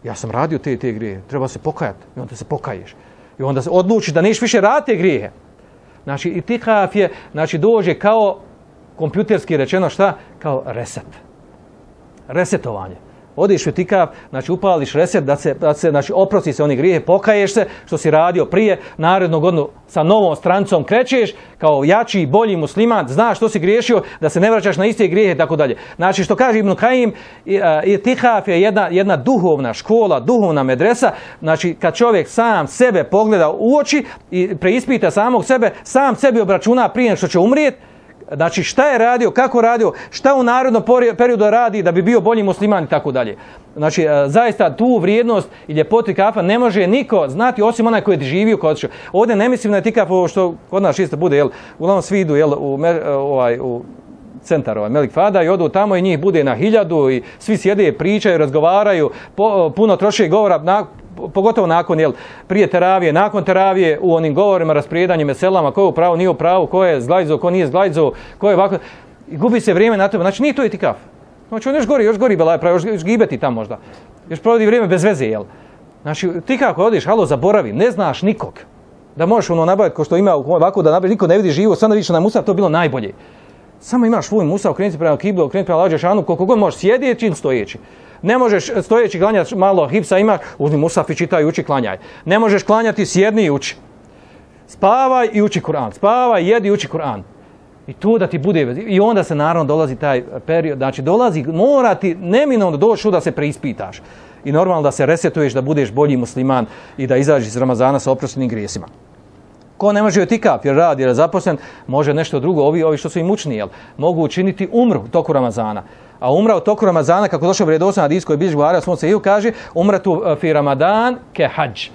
Ja sam radio te te grije, treba se pokajati i onda se pokaješ. I onda se odlučiš da neš više raditi te grije. Znači, itikaf je, znači, dođe kao kompjuterski rečeno šta? Kao reset. Resetovanje. Odiš u itikaf, znači upališ reset da se, da se znači, oprosti se onih grijehe, pokaješ se što si radio prije, narednu godinu sa novom strancom krećeš kao jači, bolji musliman, znaš što si griješio, da se ne vraćaš na iste grijehe i tako dalje. Znači što kaže Ibn Kajim, itikaf je jedna, jedna duhovna škola, duhovna medresa, znači kad čovjek sam sebe pogleda u oči i preispita samog sebe, sam sebi obračuna prije nego što će umrijeti, znači šta je radio, kako radio, šta u narodnom periodu radi da bi bio bolji musliman i tako dalje. Znači zaista tu vrijednost i ljepotu itikafa ne može niko znati osim onaj koji je živio kod što. Ovdje ne mislim na itikaf što kod nas isto bude, jel, uglavnom svi idu jel, u, ovaj, u centar ovaj, Melik Fada i odu tamo i njih bude na hiljadu i svi sjede, pričaju, razgovaraju, po, puno troše govora, na, pogotovo nakon, jel, prije teravije, nakon teravije u onim govorima, rasprijedanjem, meselama, ko je u pravu, nije u pravu, ko je zglajzo, ko nije zglajzo, ko je ovako, i gubi se vrijeme na tome. Znači nije to itikaf. Znači on još gori, još gori belaj, još, još gibeti tam možda. Još provodi vrijeme bez veze, jel? Znači ti kako odiš, halo, zaboravi, ne znaš nikog. Da možeš ono nabaviti ko što ima ovako da nabaviš, niko ne vidi živo, sad da vidiš na musaf, to bilo najbolje. Samo imaš svoj musaf, okrenuti prema kiblu, okrenuti prema lađe šanu, koliko god možeš sjediti ili stojeći. Ne možeš stojeći klanjati, malo hipsa imaš, uzmi musaf i čitaj, uči, klanjaj. Ne možeš klanjati, sjedni i uči. Spavaj i uči Kur'an. Spavaj, jedi i uči Kur'an. I tu da ti bude, i onda se naravno dolazi taj period, znači dolazi, mora ti neminovno doći da se preispitaš. I normalno da se resetuješ, da budeš bolji musliman i da izađeš iz Ramazana sa oproštenim grijesima. Ko ne može itikaf jer radi, jer je zaposlen, može nešto drugo, ovi, ovi što su im mučni, jel, mogu učiniti umru u toku Ramazana. A umra u toku Ramazana, kako došao vjerodostojni hadis koji bilježi Buharija u svom sahihu, kaže umratu fi Ramadan ke hadž.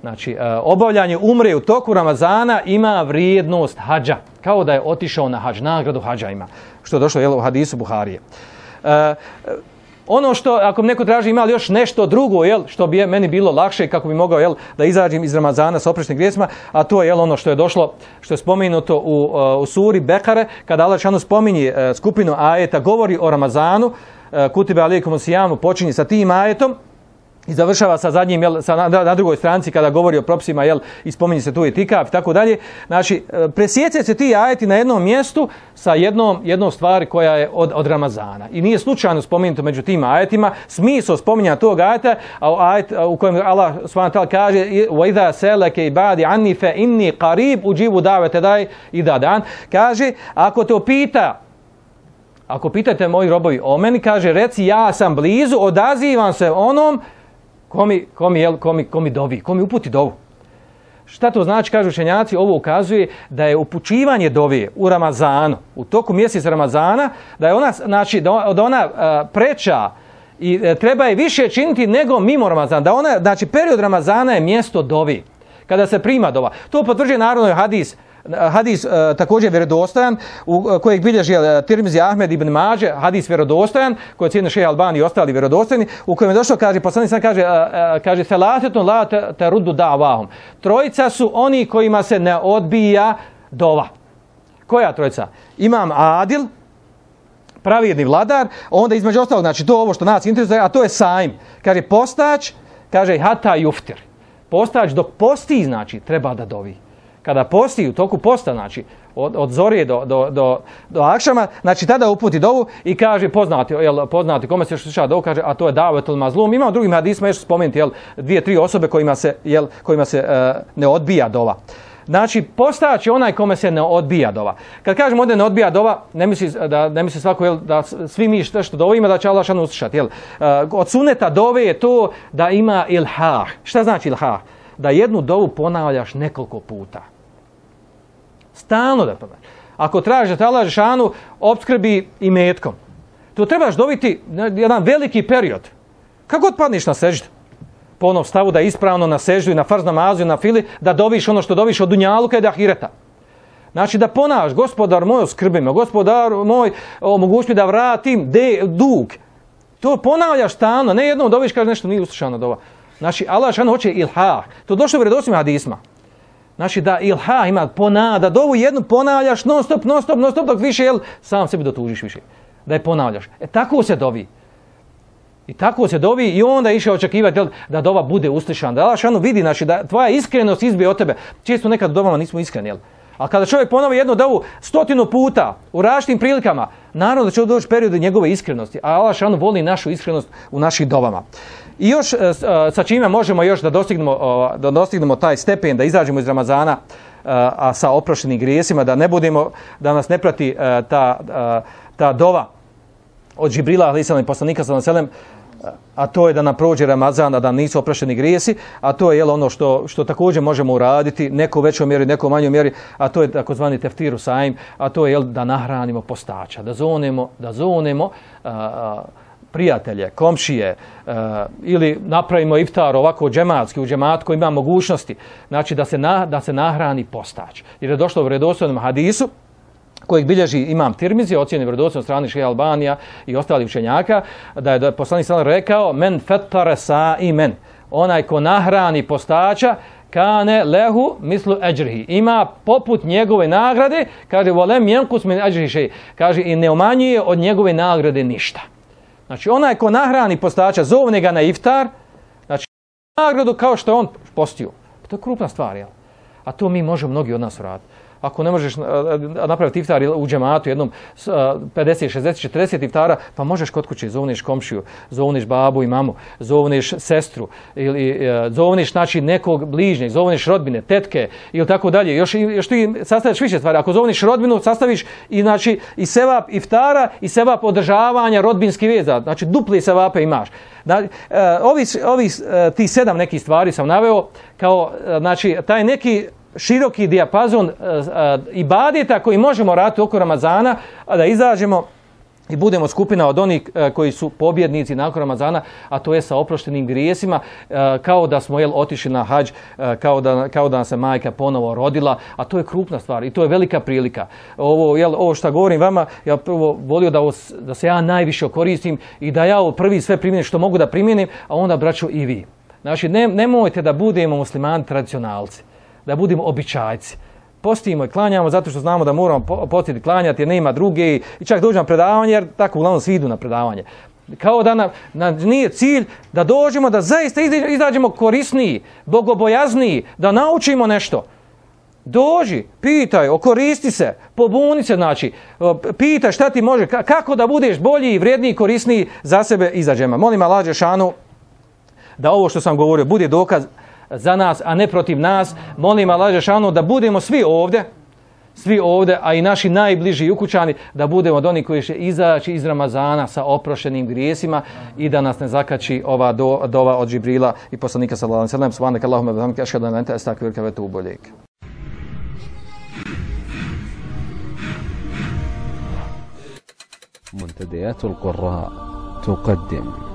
Znači, obavljanje umre u toku Ramazana ima vrijednost hadža, kao da je otišao na hadž, nagradu hadža ima, što je došlo jel, u hadisu Buharije. E, ono što, ako mi neko traži ima li još nešto drugo, jel, što bi je meni bilo lakše, kako bi mogao jel, da izađem iz Ramazana s oproštenim grijesima, a to je jel, ono što je došlo, što je spomenuto u, u suri Bekare, kada Allah dželle spominje skupinu ajeta, govori o Ramazanu, kutibe alejkumus sijamu, počinje sa tim ajetom, i završava sa zadnjim, jel, sa, na, na drugoj stranici kada govori o propisima, jel, i spominje se tu itikaf i tako dalje. Znači, presjeće se ti ajeti na jednom mjestu sa jednom, jednom stvari koja je od, od Ramazana. I nije slučajno spomenuto među tim ajetima. Smisao spominja tog ajeta, a ajet u kojem Allah subhanahu wa ta'ala kaže وَإِذَا سَلَكَ عِبَادِ عَنِّي فَإِنِّي قَرِيبٌ أُجِيبُ دَعْوَةَ دَاعِ إِذَا دَعَانِ. Kaže, ako te opita, ako pitate moji robovi o meni, kaže, reci ja sam blizu, odazivam se onom Komi, komi, jel, komi, komi dovi, komi uputi dovu. Šta to znači, kažu učenjaci, ovo ukazuje da je upućivanje dovije u Ramazanu, u toku mjeseca Ramazana, da je ona, znači, da ona uh, preča i uh, treba je više činiti nego mimo Ramazana. Da ona, znači, period Ramazana je mjesto dovi, kada se prima dova. To potvrđuje naravno hadis, hadis uh, također vjerodostojan, u uh, kojeg bilježi uh, Tirmizi, Ahmed ibn Mađe, hadis vjerodostojan, koji je cijene Šejh Albani i ostali vjerodostojni, u kojem je došlo, kaže, poslanik sam kaže, uh, uh, kaže, selasetun la teruddu da'vahum. Trojica su oni kojima se ne odbija dova. Koja trojica? Imam Adil, pravedni vladar, onda između ostalog, znači to ovo što nas interesuje, a to je sajm. Kaže, postač, kaže, hata juftir. Postač dok posti, znači, treba da dovi. Kada posti u toku posta, znači od, od zorije do, do, do, do akšama, znači tada uputi dovu i kaže poznati, jel, poznati kome se sluša dovu, kaže, a to je davetul mazlum. Imamo drugim hadisima još spomenuti, jel, dvije, tri osobe kojima se, jel, kojima se uh, ne odbija dova. Znači, postać je onaj kome se ne odbija dova. Kad kažemo ovdje ne odbija dova, ne misli, da, ne misli svako, jel, da svi mi što, što dovimo da će Allah šanu uslišati. Jel. Uh, od suneta dove je to da ima ilhah. Šta znači ilhah? Da jednu dovu ponavljaš nekoliko puta. Stalno da ponavljaš. Ako tražiš da te Allah šanu opskrbi i metkom, to trebaš dobiti jedan veliki period. Kako god padniš na seždu, po onom stavu da je ispravno na seždu i na farz namazu i na fili, da doviš ono što doviš od dunjaluka i da ahireta. Znači da ponavljaš, gospodar moj oskrbi me, gospodar moj omogući mi da vratim de, dug. To ponavljaš stalno, ne jednom doviš, kaže nešto nije uslišano dova. Znači Allah šanu hoće ilhah. To došlo u vjerodostojnim hadisma. Znači da ilha ima ponavlja, da dovu jednu ponavljaš non stop, non stop, non stop, dok više, jel, sam sebi dotužiš više. Da je ponavljaš. E tako se dovi. I tako se dovi i onda išao očekivati, jel, da dova bude uslišana. Da Allah šanu vidi, znači da tvoja iskrenost izbije od tebe. Često nekad u dovama nismo iskreni, jel. A kada čovjek ponovi jednu dovu stotinu puta u različitim prilikama, naravno da će doći period njegove iskrenosti, a Allah šanu voli našu iskrenost u našim dovama. I još sa čime možemo još da dostignemo, da dostignemo taj stepen, da izađemo iz Ramazana a sa oproštenim grijesima, da ne budemo, da nas ne prati ta, ta dova od Džibrila alejhi selam i poslanika sallallahu alejhi ve sellem, a to je da nam prođe Ramazan, a da nisu oprošteni grijesi, a to je jel, ono što, što također možemo uraditi, neko u većoj mjeri, neko u manjoj mjeri, a to je takozvani teftiru saim, a to je jel, da nahranimo postača, da zonemo, da zonemo a, a, prijatelje, komšije uh, ili napravimo iftar ovako džematski, u džematku ima mogućnosti, znači da se, na, da se nahrani postač. Jer je došlo u vjerodostojnom hadisu kojeg bilježi imam Tirmizi, ocjeni vjerodostojnom strani Šeha Albanija i ostali učenjaka, da je, da je poslanik sallallahu alejhi ve sellem rekao men fettara sa'imen, onaj ko nahrani postača, kane lehu mislu eđrihi, ima poput njegove nagrade, kaže volem jenkus min eđrihi šej, kaže i ne umanjuje od njegove nagrade ništa. Znači, onaj ko nahrani postača, zovne ga na iftar, znači, nagradu kao što je on postio. To je krupna stvar, jel? A to mi možemo mnogi od nas uraditi. Ako ne možeš napraviti iftar u džematu jednom pedeset, šezdeset, četrdeset iftara, pa možeš kod kuće, zovneš komšiju, zovneš babu i mamu, zovneš sestru, ili zovneš znači, nekog bližnjeg, zovneš rodbine, tetke ili tako dalje. Još, još ti sastaviš više stvari. Ako zovneš rodbinu, sastaviš i, znači, i sevap iftara i sevap održavanja rodbinskih veza. Znači, dupli sevape imaš. Znači, ovi, ovi, ti sedam nekih stvari sam naveo kao, znači, taj neki široki dijapazon uh, uh, ibadeta koji možemo raditi oko Ramazana, a da izađemo i budemo skupina od onih uh, koji su pobjednici nakon Ramazana, a to je sa oproštenim grijesima, uh, kao da smo jel, otišli na hadž, uh, kao, da, kao da nam se majka ponovo rodila, a to je krupna stvar i to je velika prilika. Ovo, jel, ovo što govorim vama, ja prvo volio da, ovo, da se ja najviše koristim i da ja ovo prvi sve primjenim što mogu da primjenim, a onda braćo i vi. Znači, ne, nemojte da budemo muslimani tradicionalci, da budemo običajci. Postimo i klanjamo zato što znamo da moramo postiti klanjati jer nema druge i čak dođemo na predavanje jer tako uglavnom svi idu na predavanje. Kao da nam, nam nije cilj da dođemo da zaista izađemo korisniji, bogobojazniji, da naučimo nešto. Dođi, pitaj, okoristi se, pobuni se, znači, pitaj šta ti može, kako da budeš bolji i vrijedniji i korisniji za sebe izađemo. Molim Allah dželešanu da ovo što sam govorio bude dokaz za nas, a ne protiv nas. Molim Allah dželešanu da budemo svi ovdje, svi ovdje, a i naši najbliži ukućani, da budemo od onih koji će izaći iz Ramazana sa oprošenim grijesima i da nas ne zakači ova do, dova od Džibrila i poslanika sallallahu alejhi ve sellem. Subhanaka Allahumma wa bihamdika ashhadu an la ilaha illa anta astaghfiruka wa atubu ilaik. منتديات القراء تقدم